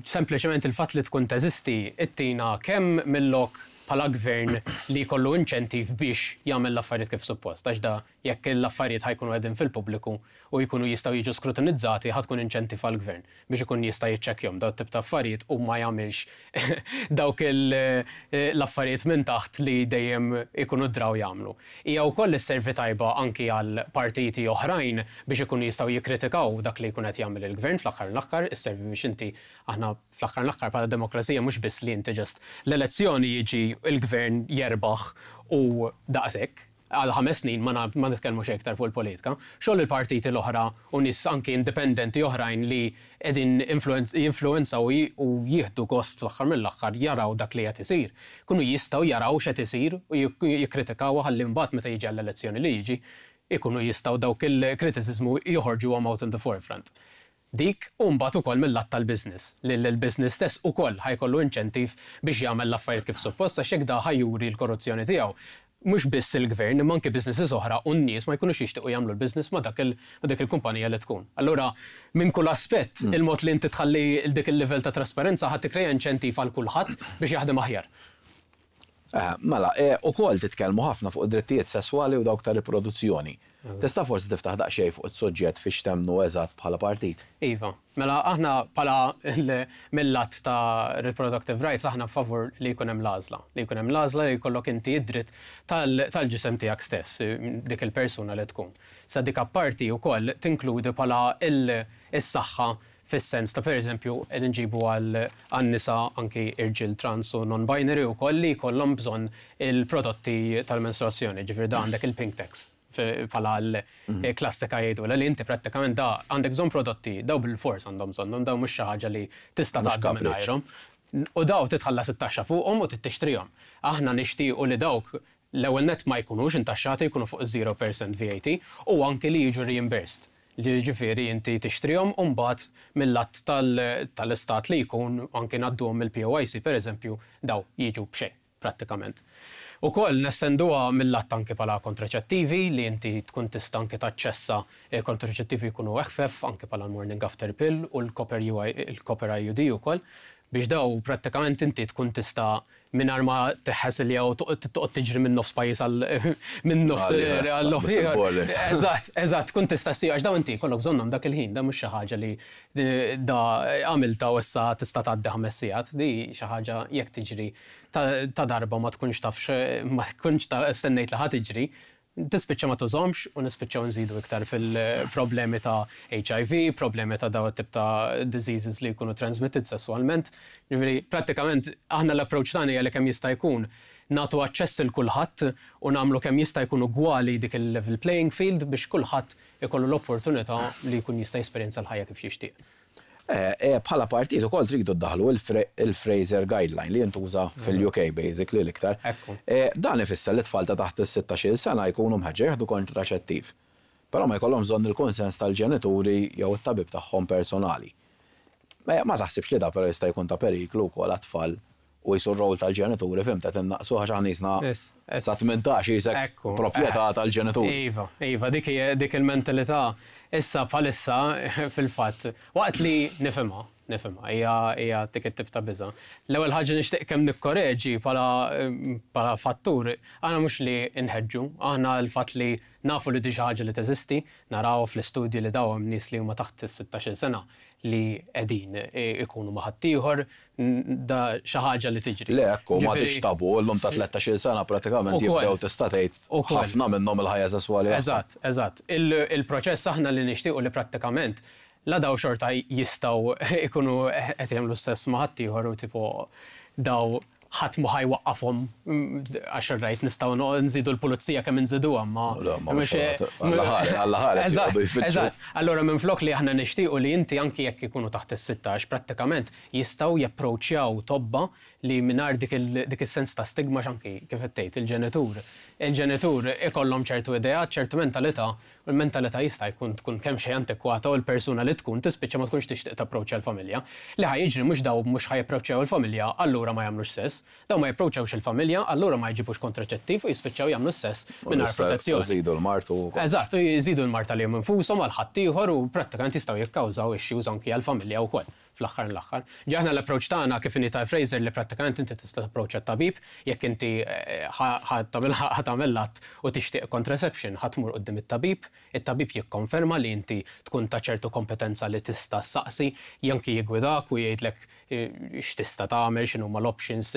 sempliċement il-fatt li tkun teżisti ittina kemm mill-lok bħala gvern li jkollu inċentiv biex jagħmel l-affarijiet kif suppost. Għax da jekk l-affarijiet ħa jkunu qegħdin fil-pubbliku u jkunu jistgħu jiġu skrutinizzati, ħa tkun inċentiv għall-gvern biex ikun jista' jiċċekkjahom daw tip ta' affarijiet u ma jagħmilx dawk l-affarijiet minn taħt li dejjem ikunu draw jagħmlu. Hija wkoll isservi tajba anki għal partiti oħrajn biex ikunu jistgħu jikkritikaw dak li jkun qed jagħmel il-gvern. Fl-aħħar l-aħħar isservi biex inti, aħna fl-aħħar l-aħħar bħala demokrazija mhux biss li inti just l-elezzjoni jiġi il-gvern jerbaħ u daqshekk għal ħames snin ma ma nitkellmu xejn iktar fuq il-politika. Xogħol il-partiti l-oħra u nies anki indipendenti oħrajn li qegħdin jinfluenzaw u jieħdu gost fl-aħħar mill-aħħar jaraw dak li qed isir. Kunu jistgħu jaraw x'qed isir u jikkritikaw ħalli mbagħad meta jiġi għall-elezzjoni li jiġi ikunu jistgħu dawk il-kritiċiżmu joħorġu out in the forefront. Dik u mbagħad ukoll mill-lat tal-business, li l-business stess ukoll ħa jkollu inċentiv biex jagħmel l-affarijiet kif suppost, għax hekk da ħa juri l-korruzzjoni tiegħu. Mhux biss il-gvern, imma anke businesses oħra u n-nies ma jkunux jixtiequ jagħmlu l-business ma dak dik il-kumpanija li tkun. Allura, minn kull aspett, mm. il-mod li inti tħalli dik il-level ta' trasparenza ħa tikkreja inċentiv għal kulħadd biex jaħdem aħjar. Eh, mela, eh, ukoll titkellmu ħafna fuq drittijiet sesswali u dawk ta' riproduzzjoni. Tista' forsi tiftaħ daqsxejn fuq is-suġġett fiex temmnu eżatt bħala partit? Iva, mela aħna bħala mill-lat ta' reproductive rights aħna favur li jkun hemm l-għażla. Li jkun hemm l-għażla li jkollok inti id-dritt tal-ġisem tiegħek stess, dik il-persuna li tkun. Sa dik apparti wkoll tinkludi bħala il-saħħa fis-sens ta', pereżempju, nġibu għal nisa, anki irġiel trans u non-binary u koll li jkollhom bżonn il-prodotti tal-menstruazzjoni, ġifieri da għandek il-pink tax bħala l-klassika jgħidu li inti prattikament da għandek bżonn prodotti, daw bil-fors għandhom bżonnhom, daw mhux xi ħaġa li tista' tgħaddi mingħajrhom. U daw titħallas it-taxxa fuqhom u tixtrihom. Aħna nixtiequ li dawk l-ewwel net ma jkunux intaxxati, jkunu fuq żero fil-mija V A T u anke li jiġu reimbursed. Li ġifieri inti tixtrihom u mbagħad mill-att tal-istat li jkun anke ngħadduhom mill-P O I C, pereżempju, daw jiġu b'xejn prattikament. Ukoll nestenduha mill-att anke bħala kontraċettivi li inti tkun tista' anke taċċessa kontraċettivi jkunu eħfef anke bħala morning after pill u l-copper il-copper I U D ukoll, biex daw prattikament inti tkun tista' mingħajr ma teħħes li jew toqgħod tiġri minn nofs pajjiż għal minn nofs għal nofs. Eżatt, eżatt, tkun tista' ssir għax daw inti kollok bżonnhom dak il-ħin, da mhux xi ħaġa li da għamilta u issa tista' tgħaddi ħames sigħat, di xi ħaġa jekk tiġri ta' darba ma tkunx tafx, ma tkunx ta' stennejt li ħa tiġri, tispiċċa ma tużomx u nispiċċaw nżidu iktar fil-problemi ta' H I V, problemi ta' daw tip ta' diseases li jkunu transmitted sessualment. Ġifieri, prattikament aħna l-approach tagħna hija li kemm jista' jkun nagħtu aċċess il kulħadd u nagħmlu kemm jista' jkun ugwali dik il-level playing field biex kulħadd ikollu l-opportunità li jkun jista' jesperjenza l-ħajja kif jixtieq. Eh, eh, bħala partit ukoll tridu ddaħlu il-Fraser Guideline li jintuża fil-U K basically l-iktar. Eh, dan ifisser li tfal ta' taħt is-sittax-il sena jkunu mħeġġa jieħdu kontraċettiv. Però ma jkollhom bżonn il-konsens tal-ġenituri jew it-tabib tagħhom personali. Ma taħsibx li da però jista' jkun ta' periklu wkoll għat-tfal u jisu r-rol tal-ġenituri, fhimt, qed innaqsu għax aħna jisna sa tmintax jisek proprjetà tal-ġenituri? Iva, iva, dik dik il-mentalità issa bħalissa fil-fatt, waqt li nifhimha, nifhimha, hija hija dik it-tip ta' biża'. L-ewwel ħaġa nixtieq kemm nikkoreġi bħala bħala fattur, aħna mhux li nħeġġu, aħna l-fatt li nafu li di xi ħaġa li teżisti, naraw fl-istudji li daw hemm nies li huma taħt is-sittax-il sena li qegħdin ikunu ma' ħaddieħor, da xi ħaġa li tiġri. Le, ekku, ma tix tabu, llum ta' tlettax-il sena pratikament jibdew, tista' tgħid, ħafna minnhom il-ħajja sesswali. Eżatt, eżatt. Il-proċess aħna li nixtiequ li prattikament la daw xorta jistgħu ikunu qed jagħmlu sess ma' ħaddieħor u tipo daw ħadd ma ħa jwaqqafhom, għax rajt nistgħu nżidu l-pulizija kemm nżiduha ma. Alla ħares. Eżatt. Allura minflok li aħna nixtiequ li inti anki jekk ikunu taħt is-sittax prattikament jistgħu japproċċjaw tobba li mingħajr dik is-sens ta' stigma, anki kif qed tgħid il-ġenitur. Il-ġenitur ikollhom ċertu idea, ċertu mentalità, u l-mentalità jista' jkun tkun kemm xejn antikwata u l-persuna li tkun tispiċċa ma tkunx tixtieq tapproċċja l-familja. Li ħa jiġri mhux daw mhux ħa japproċċjaw il-familja, allura ma jagħmlux sess, daw ma japproċċjawx il-familja, allura ma jġibux kontraċettiv u jispiċċaw jagħmlu sess mingħajr protezzjoni. Jżidu l-mard u. Eżatt, jżidu l-mard għalihom infushom, għal ħaddieħor u prattikament jistgħu jikkawżaw issues anki għall-familja wkoll fl-aħħar l-aħħar. Aħna l-approach tagħna kif inhi ta' Fraser li prattikament inti tista' approach tabib jekk inti eh, ħa tagħmel att u tixtieq contraception, ħa tmur quddiem it-tabib, it-tabib jikkonferma li inti tkun ta' ċertu kompetenza li tista' saqsi, janki jiggwidak u jgħidlek eh, x'tista' tagħmel, x'inhuma l-options.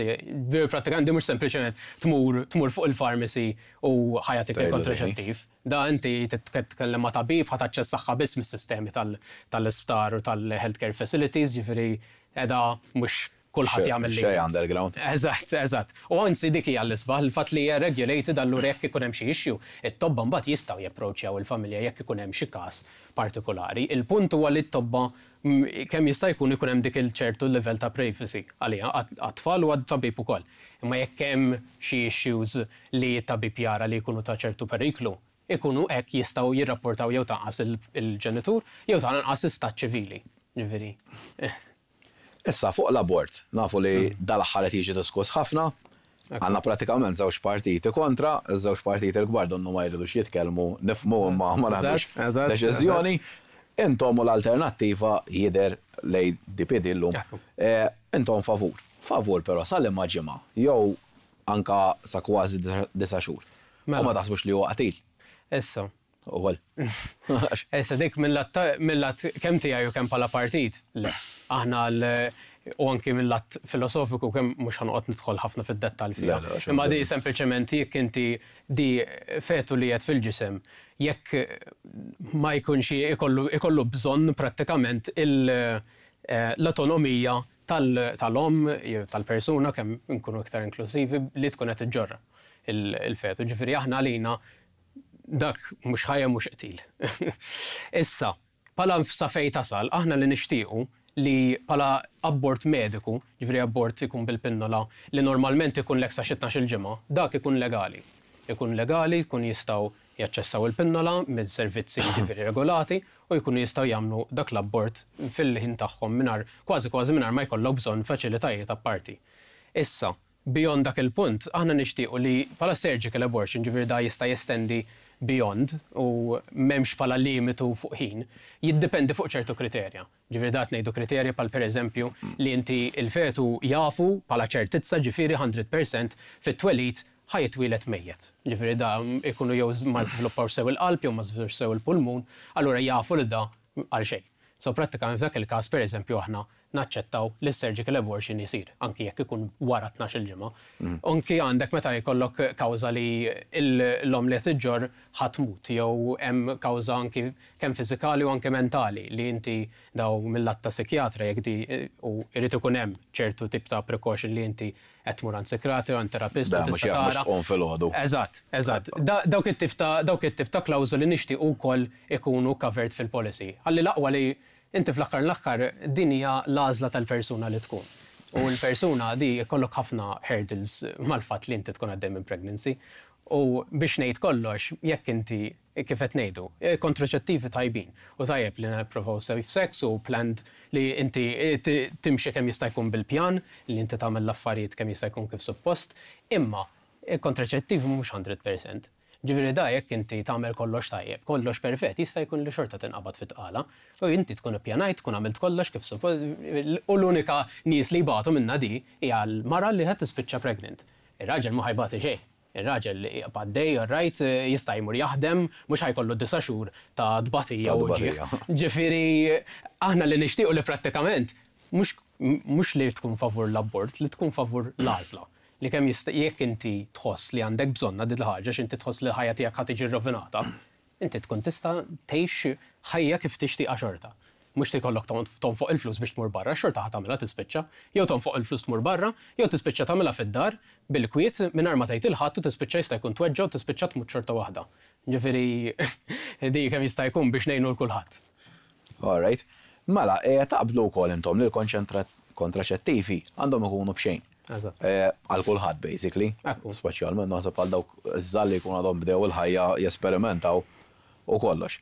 Prattikament mhux sempliċement tmur tmur fuq il-pharmacy u ħa jagħtik il-kontraċettiv. Da inti titkellem ma' tabib, ħa taċċessaha biss mis-sistemi tal-isptar u tal-healthcare facilities, ġifieri edha mhux kulħadd jagħmel li. Xej underground. Eżatt, eżatt. U anzi dik hija l-isbaħ, il-fatt li hija regulated, allura jekk ikun hemm xi issue, it-tobba mbagħad jistgħu japproċċjaw il-familja jekk ikun hemm xi każ partikolari. Il-punt huwa li t-tobba kemm jista' jkun ikun hemm dik il-ċertu level ta' privacy għalija, għat-tfal u għat-tabib ukoll. Imma jekk hemm xi issues li t-tabib jara li jkunu ta' ċertu periklu, ikunu hekk jistgħu jirrapportaw jew tanqas il-ġenitur jew tanqas istat ċivili. Ġifieri. Issa fuq l-abort, nafu li dal-aħħar qed jiġi diskuss ħafna. Għandna pratikament żewġ partiti kontra, żewġ partiti l-kbar donnu ma jridux jitkellmu, nifhmu, ma ma naħdux deċiżjoni. Intom u l-Alternattiva, jidher l-A D P D llum, eh, intom favur. Favur però sa liema ġimgħa, jew anka sa kważi disa' xhur? U Mela. ma taħsbux li huwa qatil? Issa. Ukoll. Issa, dik mill-lat kemm tiegħi u kemm bħala partit, le. Aħna l u anki mill-lat filosofiku, kemm mhux ħa noqgħod nidħol ħafna fid-dettall fiha. Le, le, xejn. Imma di sempliċement jekk inti di fetu li qed fil-ġisem, jekk ma jkunx ikollu, ikollu bżonn prattikament il- eh, l-autonomija tal-omm jew tal-persuna, kemm nkunu iktar inklusivi, li tkun qed iġġorra il-fetu. Ġifieri aħna għalina dak mhux ħajja, mhux qtil. Issa, pala sa fej tasal, aħna li nixtiequ li pala abort mediku, ġifieri abort ikun bil-pinnola, li normalment ikun lek sa xi tnax-il ġimgħa, dak ikun legali. Ikun legali, jkun jistgħu jaċċessaw il-pinnola mill-servizzi, ġifieri regolati, u jkunu jistgħu jagħmlu dak l-abort fil-ħin tagħhom mingħajr, kważi kważi mingħajr ma jkollok bżonn faċilitajiet apparti. Issa, beyond dak il-punt, aħna nixtiequ li pala surgical abortion, ġifieri da jista' jestendi beyond u m'hemmx pala limitu fuq ħin, jiddependi fuq ċertu kriterja. Ġifieri dat ngħidu kriterja pal per eżempju li inti il-fetu jafu pala ċertizza, ġifieri mija fil-mija fit-twelid ħa jitwieled mejjet. Ġifieri da ikunu jew ma żviluppaw sew il-qalb jew ma żviluppaw sew il-pulmun, allura jafu li da għal xejn. So prattikament f'dak il-każ, per eżempju, aħna naċċettaw li surgical abortion jisir, anki jekk ikun wara tnax-il ġimgħa. Anki għandek meta jkollok kawża li l-omm li qed iġġorr ħa tmut, jew hemm kawża anki kemm fiżikali u anke mentali li inti daw mill-lat ta' psikjatra, jekk di u jrid ikun hemm ċertu tip ta' precaution li inti qed tmur għand psikjatra, għand terapista. Da, mhux tista' jekk mhux tara. tqum filgħodu. Eżatt, eżatt. Da- Dawk it-tip ta' dawk it-tip ta' klawżoli nixtieq ukoll ikunu covered fil-policy. Ħalli l-aqwa li inti fl-aħħar l-aħħar din hija l-għażla tal-persuna li tkun. U l-persuna di jkollok ħafna hurdles mal-fatt li inti tkun għaddej minn pregnancy. U biex ngħid kollox, jekk inti, kif qed ngħidu, eh, kontraċettivi tajbin. U tajjeb li nipprovaw safe sex u planned, li inti eh, ti- timxi kemm jista' jkun bil-pjan, li inti tagħmel l-affarijiet kemm jista' jkun kif suppost, imma il-kontraċettivi mhux mija fil-mija. Ġifieri da jekk inti tagħmel kollox tajjeb, kollox perfett, jista' jkun li xorta tinqabad fit-tqala. U inti tkun ippjanajt, tkun għamilt kollox kif suppost, u l-unika nies li jbatu minna di hija l-mara li qed tispiċċa pregnant. Ir-raġel ma ħa jbati xejn. Ir-raġel għaddej, right, jista' jmur jaħdem, mhux ħa jkollu disa' xhur ta' tbatija Ta' u ġieħ. tbatija. Ġifieri aħna li nixtiequ li prattikament mhux mhux li tkun favur l-abort, li tkun favur l-għażla. Li kemm jista' jekk inti tħoss li għandek bżonna din il-ħaġa, x'inti tħoss li l-ħajja tiegħek ħa tiġi rovinata, inti tkun tista' tgħix ħajja kif tixtieqha xorta. Mhux tikollok tonfoq il-flus biex tmur barra, xorta ħa tagħmilha tispiċċa. Jew tonfoq il-flus tmur barra, jew tispiċċa tagħmilha fid-dar bil-kwiet mingħajr ma tgħid il-ħadd u tispiċċa jista' jkun tweġġa' u tispiċċa tmut xorta waħda. Ġifieri di kemm jista' jkun biex ngħinu l kulħadd. All right. Mela, eh, taqblu wkoll intom li l-kontraċettivi għandhom ikunu b'xejn? Eżatt. Eh, Għal kulħadd basically. Ekku. Speċjalment naħseb għal dawk iż-żgħar li jkunu għadhom bdew il-ħajja jesperimentaw u kollox.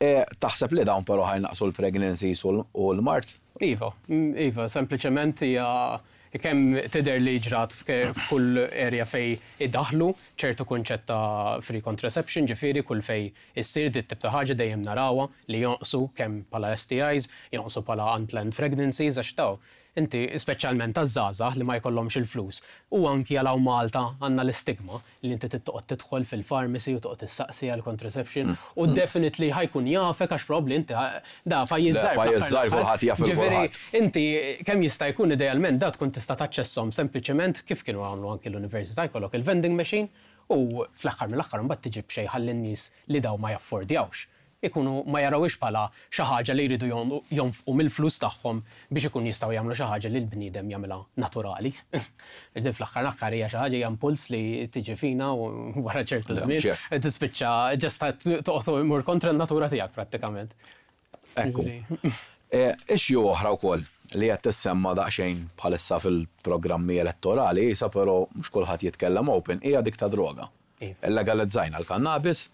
Eh, Taħseb li dawn però ħa jnaqqsu l-pregnancies u l- u l-mard? Iva, mm, iva, sempliċement hija kemm tidher li ġrat f'ke- f'kull area fej iddaħlu ċertu kunċett ta' free contraception, ġifieri kull fej issir dit tip ta' ħaġa dejjem narawha li jonqsu kemm pala S T Is, jonqsu pala unplanned pregnancies, għax taw inti speċjalment taż-żgħażagħ li ma jkollhomx il-flus. U anki għal Malta għandna l-istigma li inti toqgħod tidħol fil-pharmacy u toqgħod tissaqsi għal contraception u definitely ħa jkun jafek, għax probabbli inti da pajjiż Le, żgħar pajjiż fl-aħħar żgħar l-aħħar. kulħadd jaf il Ġifieri, kulħadd. inti kemm jista' jkun idealment da tkun tista' taċċesshom sempliċement kif kienu għamlu anki l-università, jkollok il-vending machine, u fl-aħħar mill-aħħar mbagħad tiġi b'xejn ħalli n-nies li daw ma jaffordjawx ikunu ma jarawix bħala xi ħaġa li jridu jon- jonfqu mill-flus tagħhom biex ikun jistgħu jagħmlu xi ħaġa li l-bniedem jagħmilha naturali. Din fl-aħħar l-aħħar hija xi ħaġa, hija impuls li tiġi fina u wara ċertu Le, żmien ċert. tispiċċa ġesta toqgħod imur kontra n-natura tiegħek prattikament. Ekku. Ġifieri. Eh, Issue oħra wkoll li qed tissemma daqsxejn bħalissa fil-programmi elettorali, isa però mhux kulħadd jitkellem open, hija dik ta' droga. Iva. Illegalizzajna l-kannabis,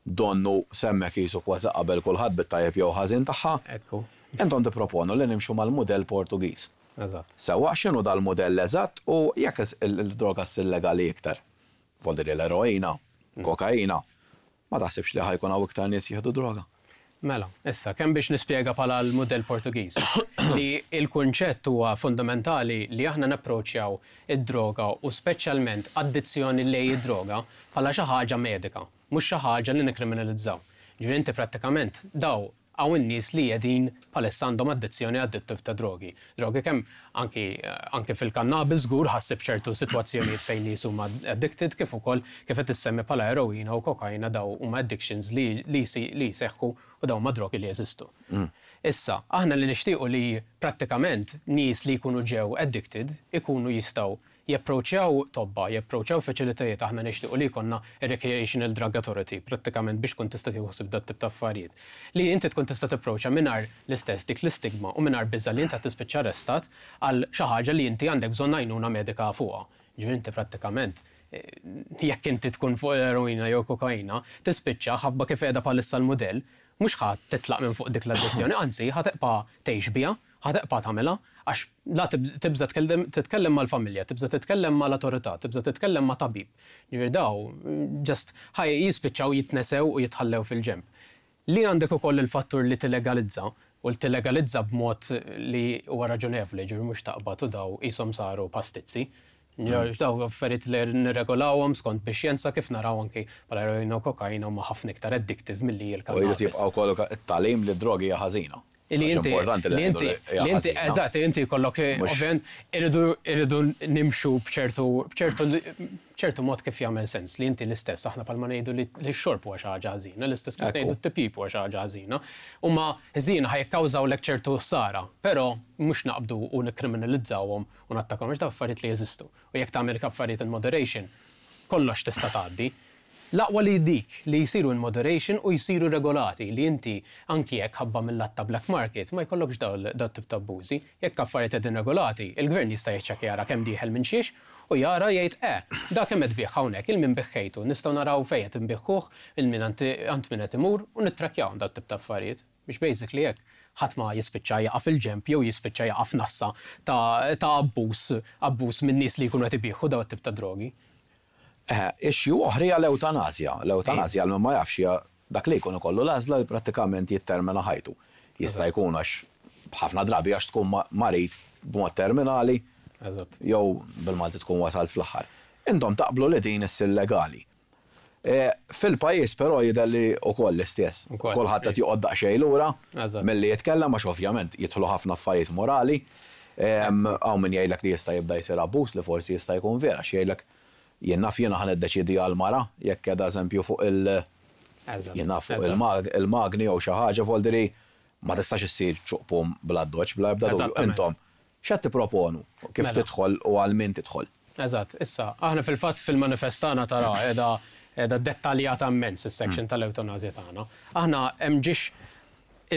donnu semmek jisu kważi qabel kulħadd bit-tajjeb jew ħażin tagħha. Ekku. Intom tipproponu li nimxu mal-mudell Portugiż. Eżatt. Sewwa, x'inhu dal-modell eżatt u jekk il-droga ssir legali iktar? Vuol dire l-eroina, kokaina, ma taħsibx li ħa jkun hawn iktar nies jieħdu droga? Mela, issa, kemm biex nispjega bħala l-modell Portugiż, li il-kunċett huwa fundamentali li aħna napproċċjaw id-droga u speċjalment addizzjoni lejn id-droga bħala xi ħaġa medika, mhux xi ħaġa li nikkriminalizzaw. Ġifieri inti prattikament daw hawn in-nies li qegħdin bħalissa għandhom addizzjoni għad tip ta' drogi. Drogi kemm anki, anki fil-kannabis żgur ħassib ċertu sitwazzjonijiet fejn nies huma addicted, kif ukoll kif qed issemmi bħala eroina u kokaina, daw huma addictions li li li jseħħu u daw huma drogi li jeżistu. Mm. Issa, aħna li nixtiequ li prattikament nies li jkunu ġew addicted ikunu jistgħu japproċċjaw tobba, japproċċjaw faċilitajiet. Aħna nixtiequ li jkollna Recreational Drug Authority, prattikament biex tkun tista' tieħu ħsieb dat tip ta' affarijiet. Li inti tkun tista' tipproċċja mingħajr l-istess dik l-istigma u mingħajr biża' li inti tispiċċa arrestat għal xi ħaġa li inti għandek bżonn għajnuna medika fuqha. Ġifieri inti prattikament, eh, jekk inti tkun fuq eroina jew kokaina, tispiċċa ħabba kif qiegħda bħalissa l-mudell, mhux ħa titlaq minn fuq dik l-addizzjoni, anzi ħa tibqa' tgħix biha, ħa tibqa' tagħmilha, għax la tibża titkellem mal-familja, tibża titkellem mal-autorità, tibża titkellem ma' tabib. Ġifieri daw, just ħaj jispiċċaw jitnesew u jitħallew fil-ġemp. Li għandek ukoll il-fattur li tillegalizza, u l-tillegalizza b'mod li huwa raġunevoli, ġifieri mhux taqbad u daw qishom saru pastizzi. Daw affarijiet li nirregolawhom skont bix-xjenza, kif naraw anki bħala eroina u kokaina huma ħafna iktar addictive milli il-kannabis. U jrid jibqa' wkoll it-tagħlim li drogi hija ħażina. Li inti, li inti, li inti, eżatt, inti kollok, ovvjament, irridu, irridu nimxu bċertu, bċertu, bċertu mod kif jagħmel sens, li inti l-istess, aħna palma ngħidu li x-xorb huwa xi ħaġa ħażina, l-istess kif ngħidu t-tipjip huwa xi ħaġa ħażina. Huma ħżiena, ħa jikkawżawlek ċertu ħsara, però mhux naqbdu u nikkriminalizzawhom u nattakawhom, għax daw affarijiet li jeżistu. U jekk tagħmel affarijiet in moderation, kollox tista' tgħaddi. L-aqwa li dik li jisiru in moderation u jisiru regolati, li inti anki jekk ħabba mill-lat ta' black market ma jkollokx daw daw tip ta' abbużi. Jekk affarijiet qegħdin regolati, il-gvern jista' jiċċekkja, jara kemm dieħel minn xiex u jara jgħid, eh, da kemm qed tbigħ hawnhekk, lil min biegħtu, nistgħu naraw fejn qed inbiegħuh, lil min għand min qed imur u nittrakkjaw daw tip ta' affarijiet. Biex basically jekk ħadd ma jispiċċa jaqa' fil-ġemp jew jispiċċa jaqa' f'nassa ta' ta' abbuż abbuż minn nies li jkunu qed ibigħu daw tip ta' drogi. Eh, issue oħra hija l-eutanasja. L-eutanasja, għal ma jafx, hija dak li jkun ikollu l-għażla li prattikament jittermina ħajtu. Jista' jkun għax ħafna drabi għax tkun marid b'mod terminali jew bil-Malti tkun wasalt fl-aħħar. Intom taqblu li din issir legali. E, fil-pajjiż però jidher li wkoll l-istess. Kulħadd qed joqgħod daqsxejn lura milli jitkellem, għax ovvjament jidħlu ħafna affarijiet morali. Hawn min jgħidlek li jista' jibda jsir abbuż, li forsi jista' jkun vera, x'jgħidlek, jien naf, jiena ħa niddeċidi għal mara jekk qiegħda eżempju fuq il- jien naf, fuq il-magni jew xi ħaġa, voldiri ma tistax issir ċuqpum bla doċ, bla ebda dubju. Intom x'qed tipproponu? Kif Mela. tidħol u għal min tidħol? Eżatt, issa, aħna fil-fatt fil-manifest tagħna tara qiegħda qiegħda dettaljata immens is-section tal-eutanasja tagħna. Aħna hemm ġiex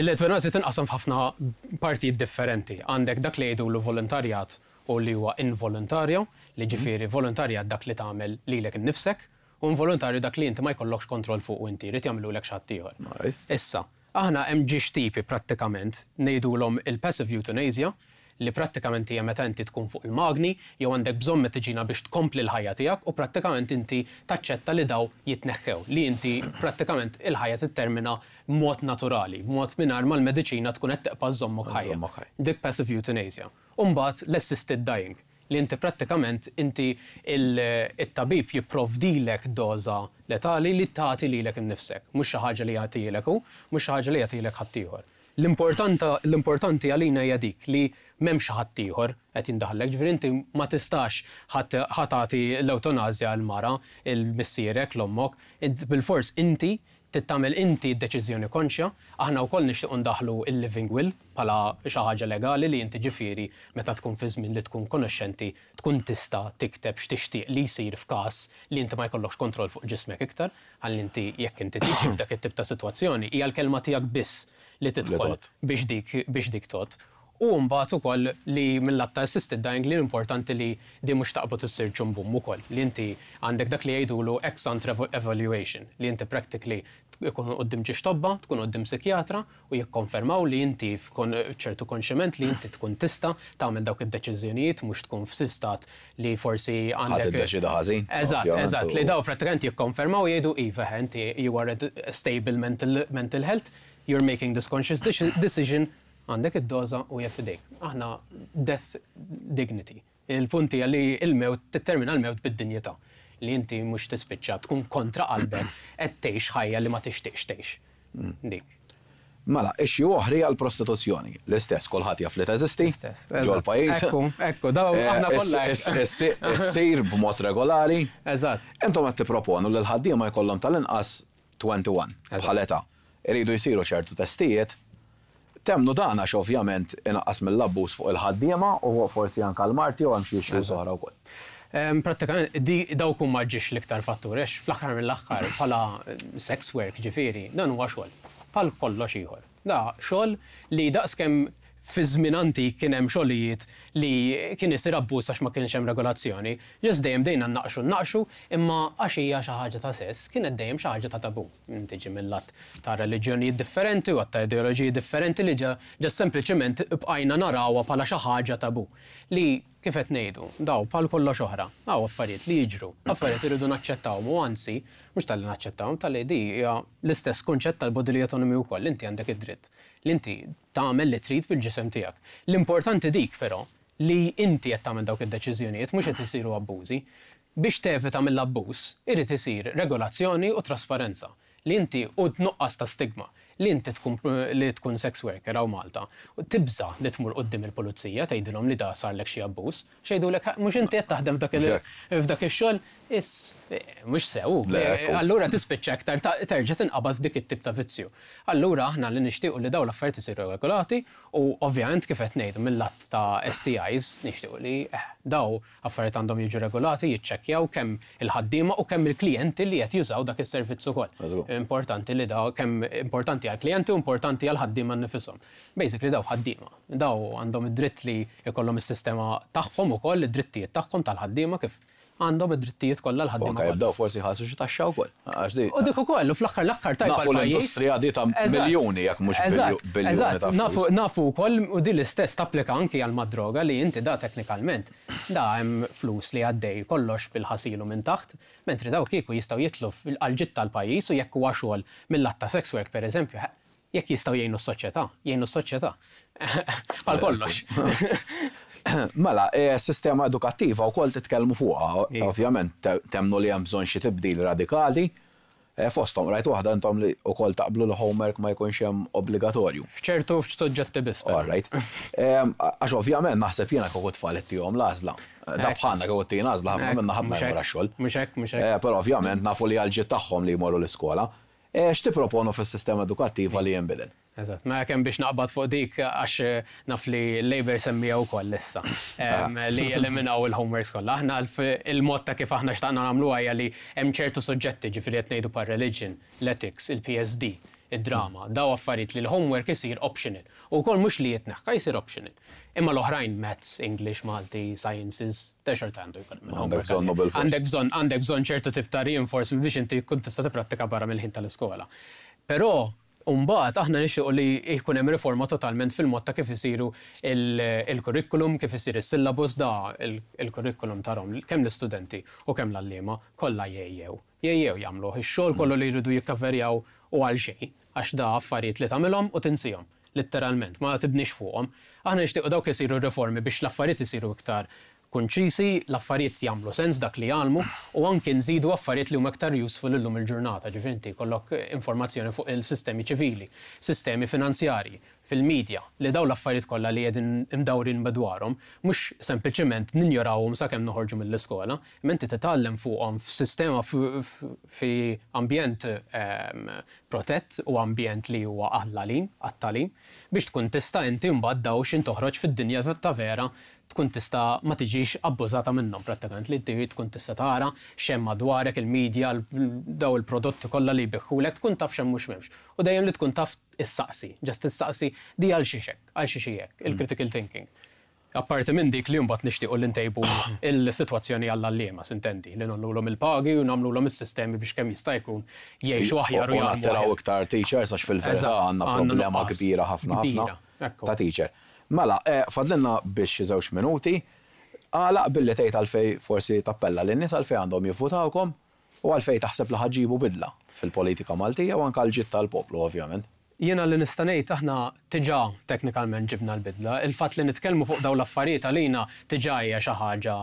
l-eutanasja tinqasam f'ħafna partijiet differenti. Għandek dak li jgħidulu volontarjat u li huwa involontarju, li ġifieri volontarjat dak li tagħmel lilek innifsek, u involontarju dak li inti ma jkollokx kontroll fuq u inti jrid jagħmlulek xi ħadd ieħor. Issa, aħna hemm ġiex tipi prattikament ngħidulhom il-passive euthanasia, li prattikament hija meta inti tkun fuq il-magni jew għandek bżonn mediċina biex tkompli l-ħajja tiegħek u prattikament inti taċċetta li daw jitneħħew, li inti prattikament il-ħajja tittermina b'mod naturali, b'mod mingħajr ma l-mediċina tkun qed tibqa' żommok ħajja. Żommok ħajja. Dik passive euthanasia. U mbagħad l-assisted dying, li inti prattikament inti il-tabib jipprovdilek doża letali li tagħti lilek innifsek, mhux xi ħaġa li jagħtilek hu, mhux xi ħaġa li jagħtilek ħaddieħor. L-importanti għalina hija dik li m'hemmx ħadd ieħor qed jindaħallek, ġifieri inti ma tistax ħa tagħti l-eutanasja l-mara, il-missierek, l-ommok, bil-fors inti tittamel inti d-deċiżjoni konxja. Aħna wkoll nixtiequ ndaħlu il-living will bħala xi ħaġa legali, li inti ġifieri meta tkun fi żmien li tkun konoxxenti tkun tista' tikteb x'tixtieq li jsir f'każ li inti ma jkollokx kontroll fuq ġismek iktar, ħalli inti jekk inti tiġi f'dak it-tip ta' sitwazzjoni hija l-kelma tiegħek biss li tidħol biex dik biex dik tot. U mbagħad ukoll li mill-lat ta' assisted dying li importanti li di mhux taqbad issir ċumbum ukoll, li inti għandek dak li jgħidulu ex ante evaluation, li inti practically ikun quddiem żewġ tobba, tkun quddiem psikjatra u jikkonfermaw li inti f'kon ċertu konximent li inti tkun tista' tagħmel dawk id-deċiżjonijiet, mhux tkun f'stat li forsi għandek. Tiddeċida ħażin. Eżatt, ovvjament, eżatt, li daw prattikament jikkonfermaw, jgħidu iva, inti you are at stable mental, mental health, you're making this conscious decision, għandek id-doża u jeffidejk. Aħna death dignity. Il-punti hija li il-mewt tittermina l-mewt bid-dinjità. Li inti mhux tispiċċa tkun kontra qalbek qed tgħix ħajja li ma tixtieqx tgħix. Dik. Mela, issue oħra għal prostituzzjoni. L-istess, kulħadd jaf li teżisti. L-istess. Ġol pajjiż. Ekku, ekku, daw Eh, aħna kollha hekk. Issir b'mod regolari. Eżatt. Intom qed tipproponu li l-ħaddiema jkollhom tal-inqas wieħed u għoxrin bħal età. Iridu jsiru ċertu testijiet. Temmnu dan għax ovvjament inaqqas mill-abbuż fuq il-ħaddiema u forsi anke l-marti u hemm xi issues oħra wkoll. Em, Prattikament, di dawk huma ġiex l-iktar fatturi, għax fl-aħħar mill-aħħar bħala sex work ġifieri, dan huwa xogħol. Bħal kollox ieħor. Da xogħol li daqskemm fi żmien antik kien hemm xogħlijiet li kien isir abbuż għax ma kienx hemm regolazzjoni, just dejjem dejna naqxu naqxu, imma għax hija xi ħaġa ta' sess, kienet dejjem xi ħaġa ta' tabu. Tiġi mill-lat ta' reliġjonijiet differenti u ta' ideoloġiji differenti li ġa ġa sempliċement bqajna narawha bħala xi ħaġa tabu. Li kif qed ngħidu, daw bħal kollox oħra, daw affarijiet li jiġru, affarijiet irridu naċċettawhom u anzi, mhux talli naċċettawhom, talli di hija l-istess kunċett tal-bodily autonomy wkoll, inti għandek id-dritt li inti tagħmel li trid bil-ġisem tiegħek. L-importanti dik però li inti qed tagħmel dawk id-deċiżjonijiet, mhux qed isiru abbużi. Biex tevita mill-abbuż, irid isir regolazzjoni u trasparenza li inti u tnuqqas ta' stigma li inti tkun li tkun sex worker hawn Malta u tibża li tmur quddiem il-pulizija tgħidilhom li da sarlek xi abbuż, x'jgħidulek, mhux inti qed taħdem f'dak il- Mhux hekk. f'dak ix-xogħol, is mhux sew. Le, ekku. Allura tispiċċa aktar ta- terġa' tinqabad f'dik it-tip ta' vizzju. Allura aħna li nixtiequ li dawn l-affarijiet isiru regolati u ovvjament kif qed ngħidu mill-lat ta' S T Is nixtiequ li eh, daw affarijiet għandhom jiġu regolati, jiċċekkjaw kemm il-ħaddiema u kemm il-klijenti li qed jużaw dak is-servizz ukoll. Eżatt. Importanti li daw kemm importanti għall-klijenti u importanti għall-ħaddiema nnifisom. Basically daw ħaddiema. Daw għandhom id-dritt li jkollhom is-sistema tagħhom ukoll, id-drittijiet tagħhom tal-ħaddiema kif għandhom id-drittijiet kollha U l-ħaddiema anke kollha. jibdew forsi ħassu xi taxxa wkoll. Għax di. U dik ukoll, u fl-aħħar l-aħħar tajba Nafu l-pajjiż. l-industrija di ta' Eżatt. miljuni, jekk mhux Eżatt, biljuni eżatt. ta' flus. Nafu, nafu wkoll u di l-istess tapplika anki għal mad-droga li inti da teknikalment da hemm flus li għaddej kollox bil-ħasilu minn taħt, mentri daw kieku jistgħu jitlu għal-ġid tal-pajjiż u jekk huwa xogħol mill-lat ta' sex work pereżempju, jekk jistgħu jgħinu s-soċjetà, jgħinu s-soċjetà. Bħal kollox. Mela, eh, sistema edukattiva wkoll titkellmu fuqha, Iva. ovvjament te- temmnu li hemm bżonn xi tibdil radikali. Eh, Fosthom rajt waħda intom li wkoll taqblu li homework ma jkunx hemm obbligatorju. F'ċertu f'soġġetti biss, però. All right. Em, Għax ovvjament naħseb jiena kieku tfal ittihom l-għażla. Da bħalna kieku ttina għażla, ħafna minna ħadd ma Mhux jmur hekk, għax-xogħol. Mhux hekk, mhux hekk. Eh, Però ovvjament nafu li għal-ġid tagħhom li jmorru l-iskola. Eh, X'tipproponu fis-sistema edukattiva li jinbidel? Eżatt, ma kemm biex naqbad fuq dik għax eh, naf li Labour semmija wkoll issa em, li eliminaw il-homeworks kollha. Aħna l- il-mod ta' kif aħna xtaqna nagħmlu hija li hemm ċertu suġġetti, ġifieri qed ngħidu par religion, l-ethics, il-P S D, id-drama, daw affarijiet li l-homework isir optional. U wkoll mhux li jitneħħa, jsir optional. Imma l-oħrajn, maths, English, Malti, sciences, ta' xorta għandu jkun hemm Għandek il-homework. bżonnu bil-fors. Għandek bżonn għandek bżonn ċertu tip ta' reinforcement biex inti kun tista' tipprattika barra mill-ħin tal-iskola. Però mbagħad aħna nixtiequ li jkun hemm riforma totalment fil-mod ta' kif isiru il- il-curriculum, kif isir is-syllabus da il- il-curriculum tarhom kemm l-istudenti u kemm l-għalliema kollha jgħejjew. Jgħejjew jagħmlu ix-xogħol kollu li jridu jikkaverjaw u għal xejn, għax da affarijiet li tagħmilhom u tinsihom letteralment, ma tibnix fuqhom. Aħna nixtiequ dawk isiru riformi biex l-affarijiet isiru iktar konċisi, l-affarijiet jagħmlu sens dak li jgħallmu u anki nżidu affarijiet li huma iktar useful illum il-ġurnata, ġifieri inti jkollok informazzjoni fuq il-sistemi ċivili, sistemi finanzjarji, fil-medja, li daw l-affarijiet kollha li qegħdin imdawrin madwarhom, mhux sempliċement ninjorawhom sakemm noħorġu mill-iskola, imma inti titgħallem fuqhom f'sistema fi ambjent ehm, protett u ambjent li huwa għall-għalim, għat-tagħlim, biex tkun tista' inti mbagħad daw xin toħroġ fid-dinja ta' vera. tkun tista' ma tiġix abbużata minnhom prattikament, li inti tkun tista' tara x'hemm madwarek, il-medja, daw il-prodotti kollha li jbigħulek, tkun taf x'hemm mhux m'hemmx. U dejjem li tkun taf issaqsi, just issaqsi di għal xiex hekk, għal xiex hekk, il-critical thinking. Apparti minn dik li mbagħad nixtiequ li ntejbu il-sitwazzjoni għall-għalliema, s'intendi, li ngħollulhom il-pagi u nagħmluhom is-sistemi biex kemm jista' jkun jgħixu aħjar u nattiraw iktar teachers, għax fil-verità għandna problema kbira ħafna ħafna ta' teacher. Mela, eh, fadlilna biex żewġ minuti, għalaq billi tgħid għalfej forsi tappella lin-nies għalfej għandhom jivvutawkom u għalfej taħseb li ħa ġġibu bidla fil-politika Maltija u anke l-ġid tal-poplu, ovvjament. Jiena li nista' ngħid, aħna diġà teknikalment ġibna l-bidla. Il-fatt li nitkellmu fuq dawn l-affarijiet għalina diġà hija xi ħaġa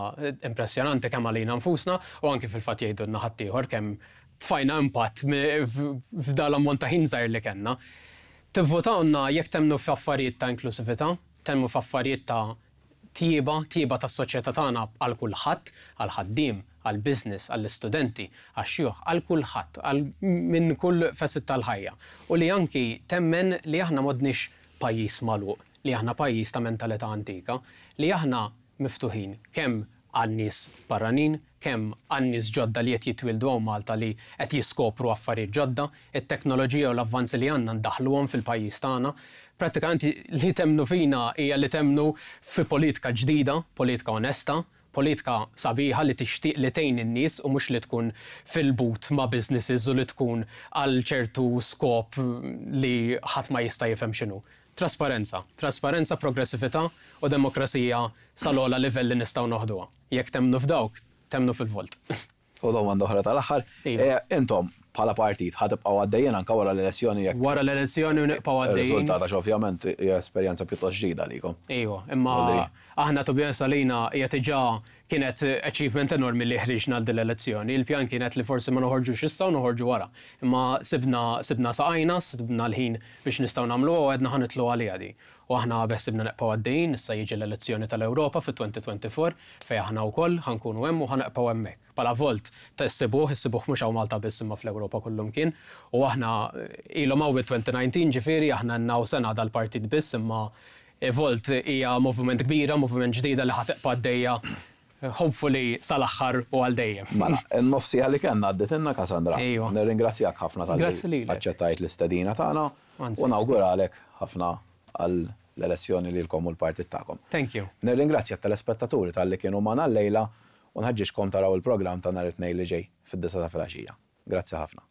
impressjonanti, kemm għalina nfusna u anki fil-fatt jgħidulna ħaddieħor kemm tfajna impatt f'dal ammont ta' ħin żgħir li kellna. Tivvotawna jekk temmnu f'affarijiet ta' inklusività, temmnu f'affarijiet ta' tjieba, tjieba tas-soċjetà tagħna għal kulħadd, għal ħaddiem, għal business, għall-istudenti, għax-xjuħ, għal kulħadd, għal minn kull facet tal-ħajja. U li anki temmen li aħna m'għadniex pajjiż magħluq, li aħna pajjiż ta' mentalità antika, li aħna miftuħin kemm għal nies barranin, kemm għal nies ġodda li qed jitwildu hawn Malta li qed jiskopru affarijiet ġodda, it-teknoloġija u l-avvanzi li għandna ndaħluhom fil-pajjiż tagħna. Pratikament li temmnu fina hija li temmnu fi politika ġdida, politika onesta, politika sabiħa li tixtieq li tgħin in-nies u mhux li tkun fil-but ma' businesses u li tkun għal ċertu skop li ħadd ma jista' jifhem x'inhu. Trasparenza, trasparenza, progressività u demokrazija sal-ogħla livell li nistgħu noħduha. Jekk temmnu f'dawk, temmnu fil-Volt. U domanda oħra tal-aħħar, Iva. eh, intom bħala partit ħa tibqgħu għaddejjin anke wara l-elezzjoni jekk Wara l-elezzjoni u nibqgħu għaddejjin. Ir-riżultat, għax ovvjament hija esperjenza pjuttost ġdida għalikom. Iva, imma Rodri. aħna, to be honest, għalina hija diġà kienet achievement enormi li ħriġna għal din l-elezzjoni. Il-pjan kienet li forsi ma noħorġux issa u noħorġu wara. Imma sibna sibna saqajna, sibna l-ħin biex nistgħu nagħmlu u għedna ħa nitilgħu għalija di. U aħna beħsiebna nibqgħu għaddejjin, issa jiġi l-elezzjoni tal-Ewropa fit-elfejn u erbgħa wgħoxrin fejn aħna wkoll ħa nkunu hemm u ħa nibqgħu hemmhekk. Bħala Volt ta' issibuh, issibuh mhux hawn Malta biss imma fl-Ewropa kullum kien. U aħna ilhom hawn elfejn u dsatax, ġifieri aħna naw sena dal-partit biss, imma Volt hija movement kbira, movement ġdida li ħa tibqa' għaddejja hopefully sal-aħħar u għal dejjem. Mela, in-nofsija li kellna għadditilna, Cassandra. Ejwa. Nirringrazzjak ħafna talli Grazzi lilek. aċċettajt l-istedina tagħna Anzi. u nawguralek ħafna għal l-elezzjoni lilkom u l-partit tagħkom. Thank you. Nirringrazzja t-telespettaturi talli kienu magħna llejla u nħeġġiġkom taraw il-programm ta' nhar it-Tnejn li ġej fid-disgħa ta' filgħaxija. Grazzi ħafna.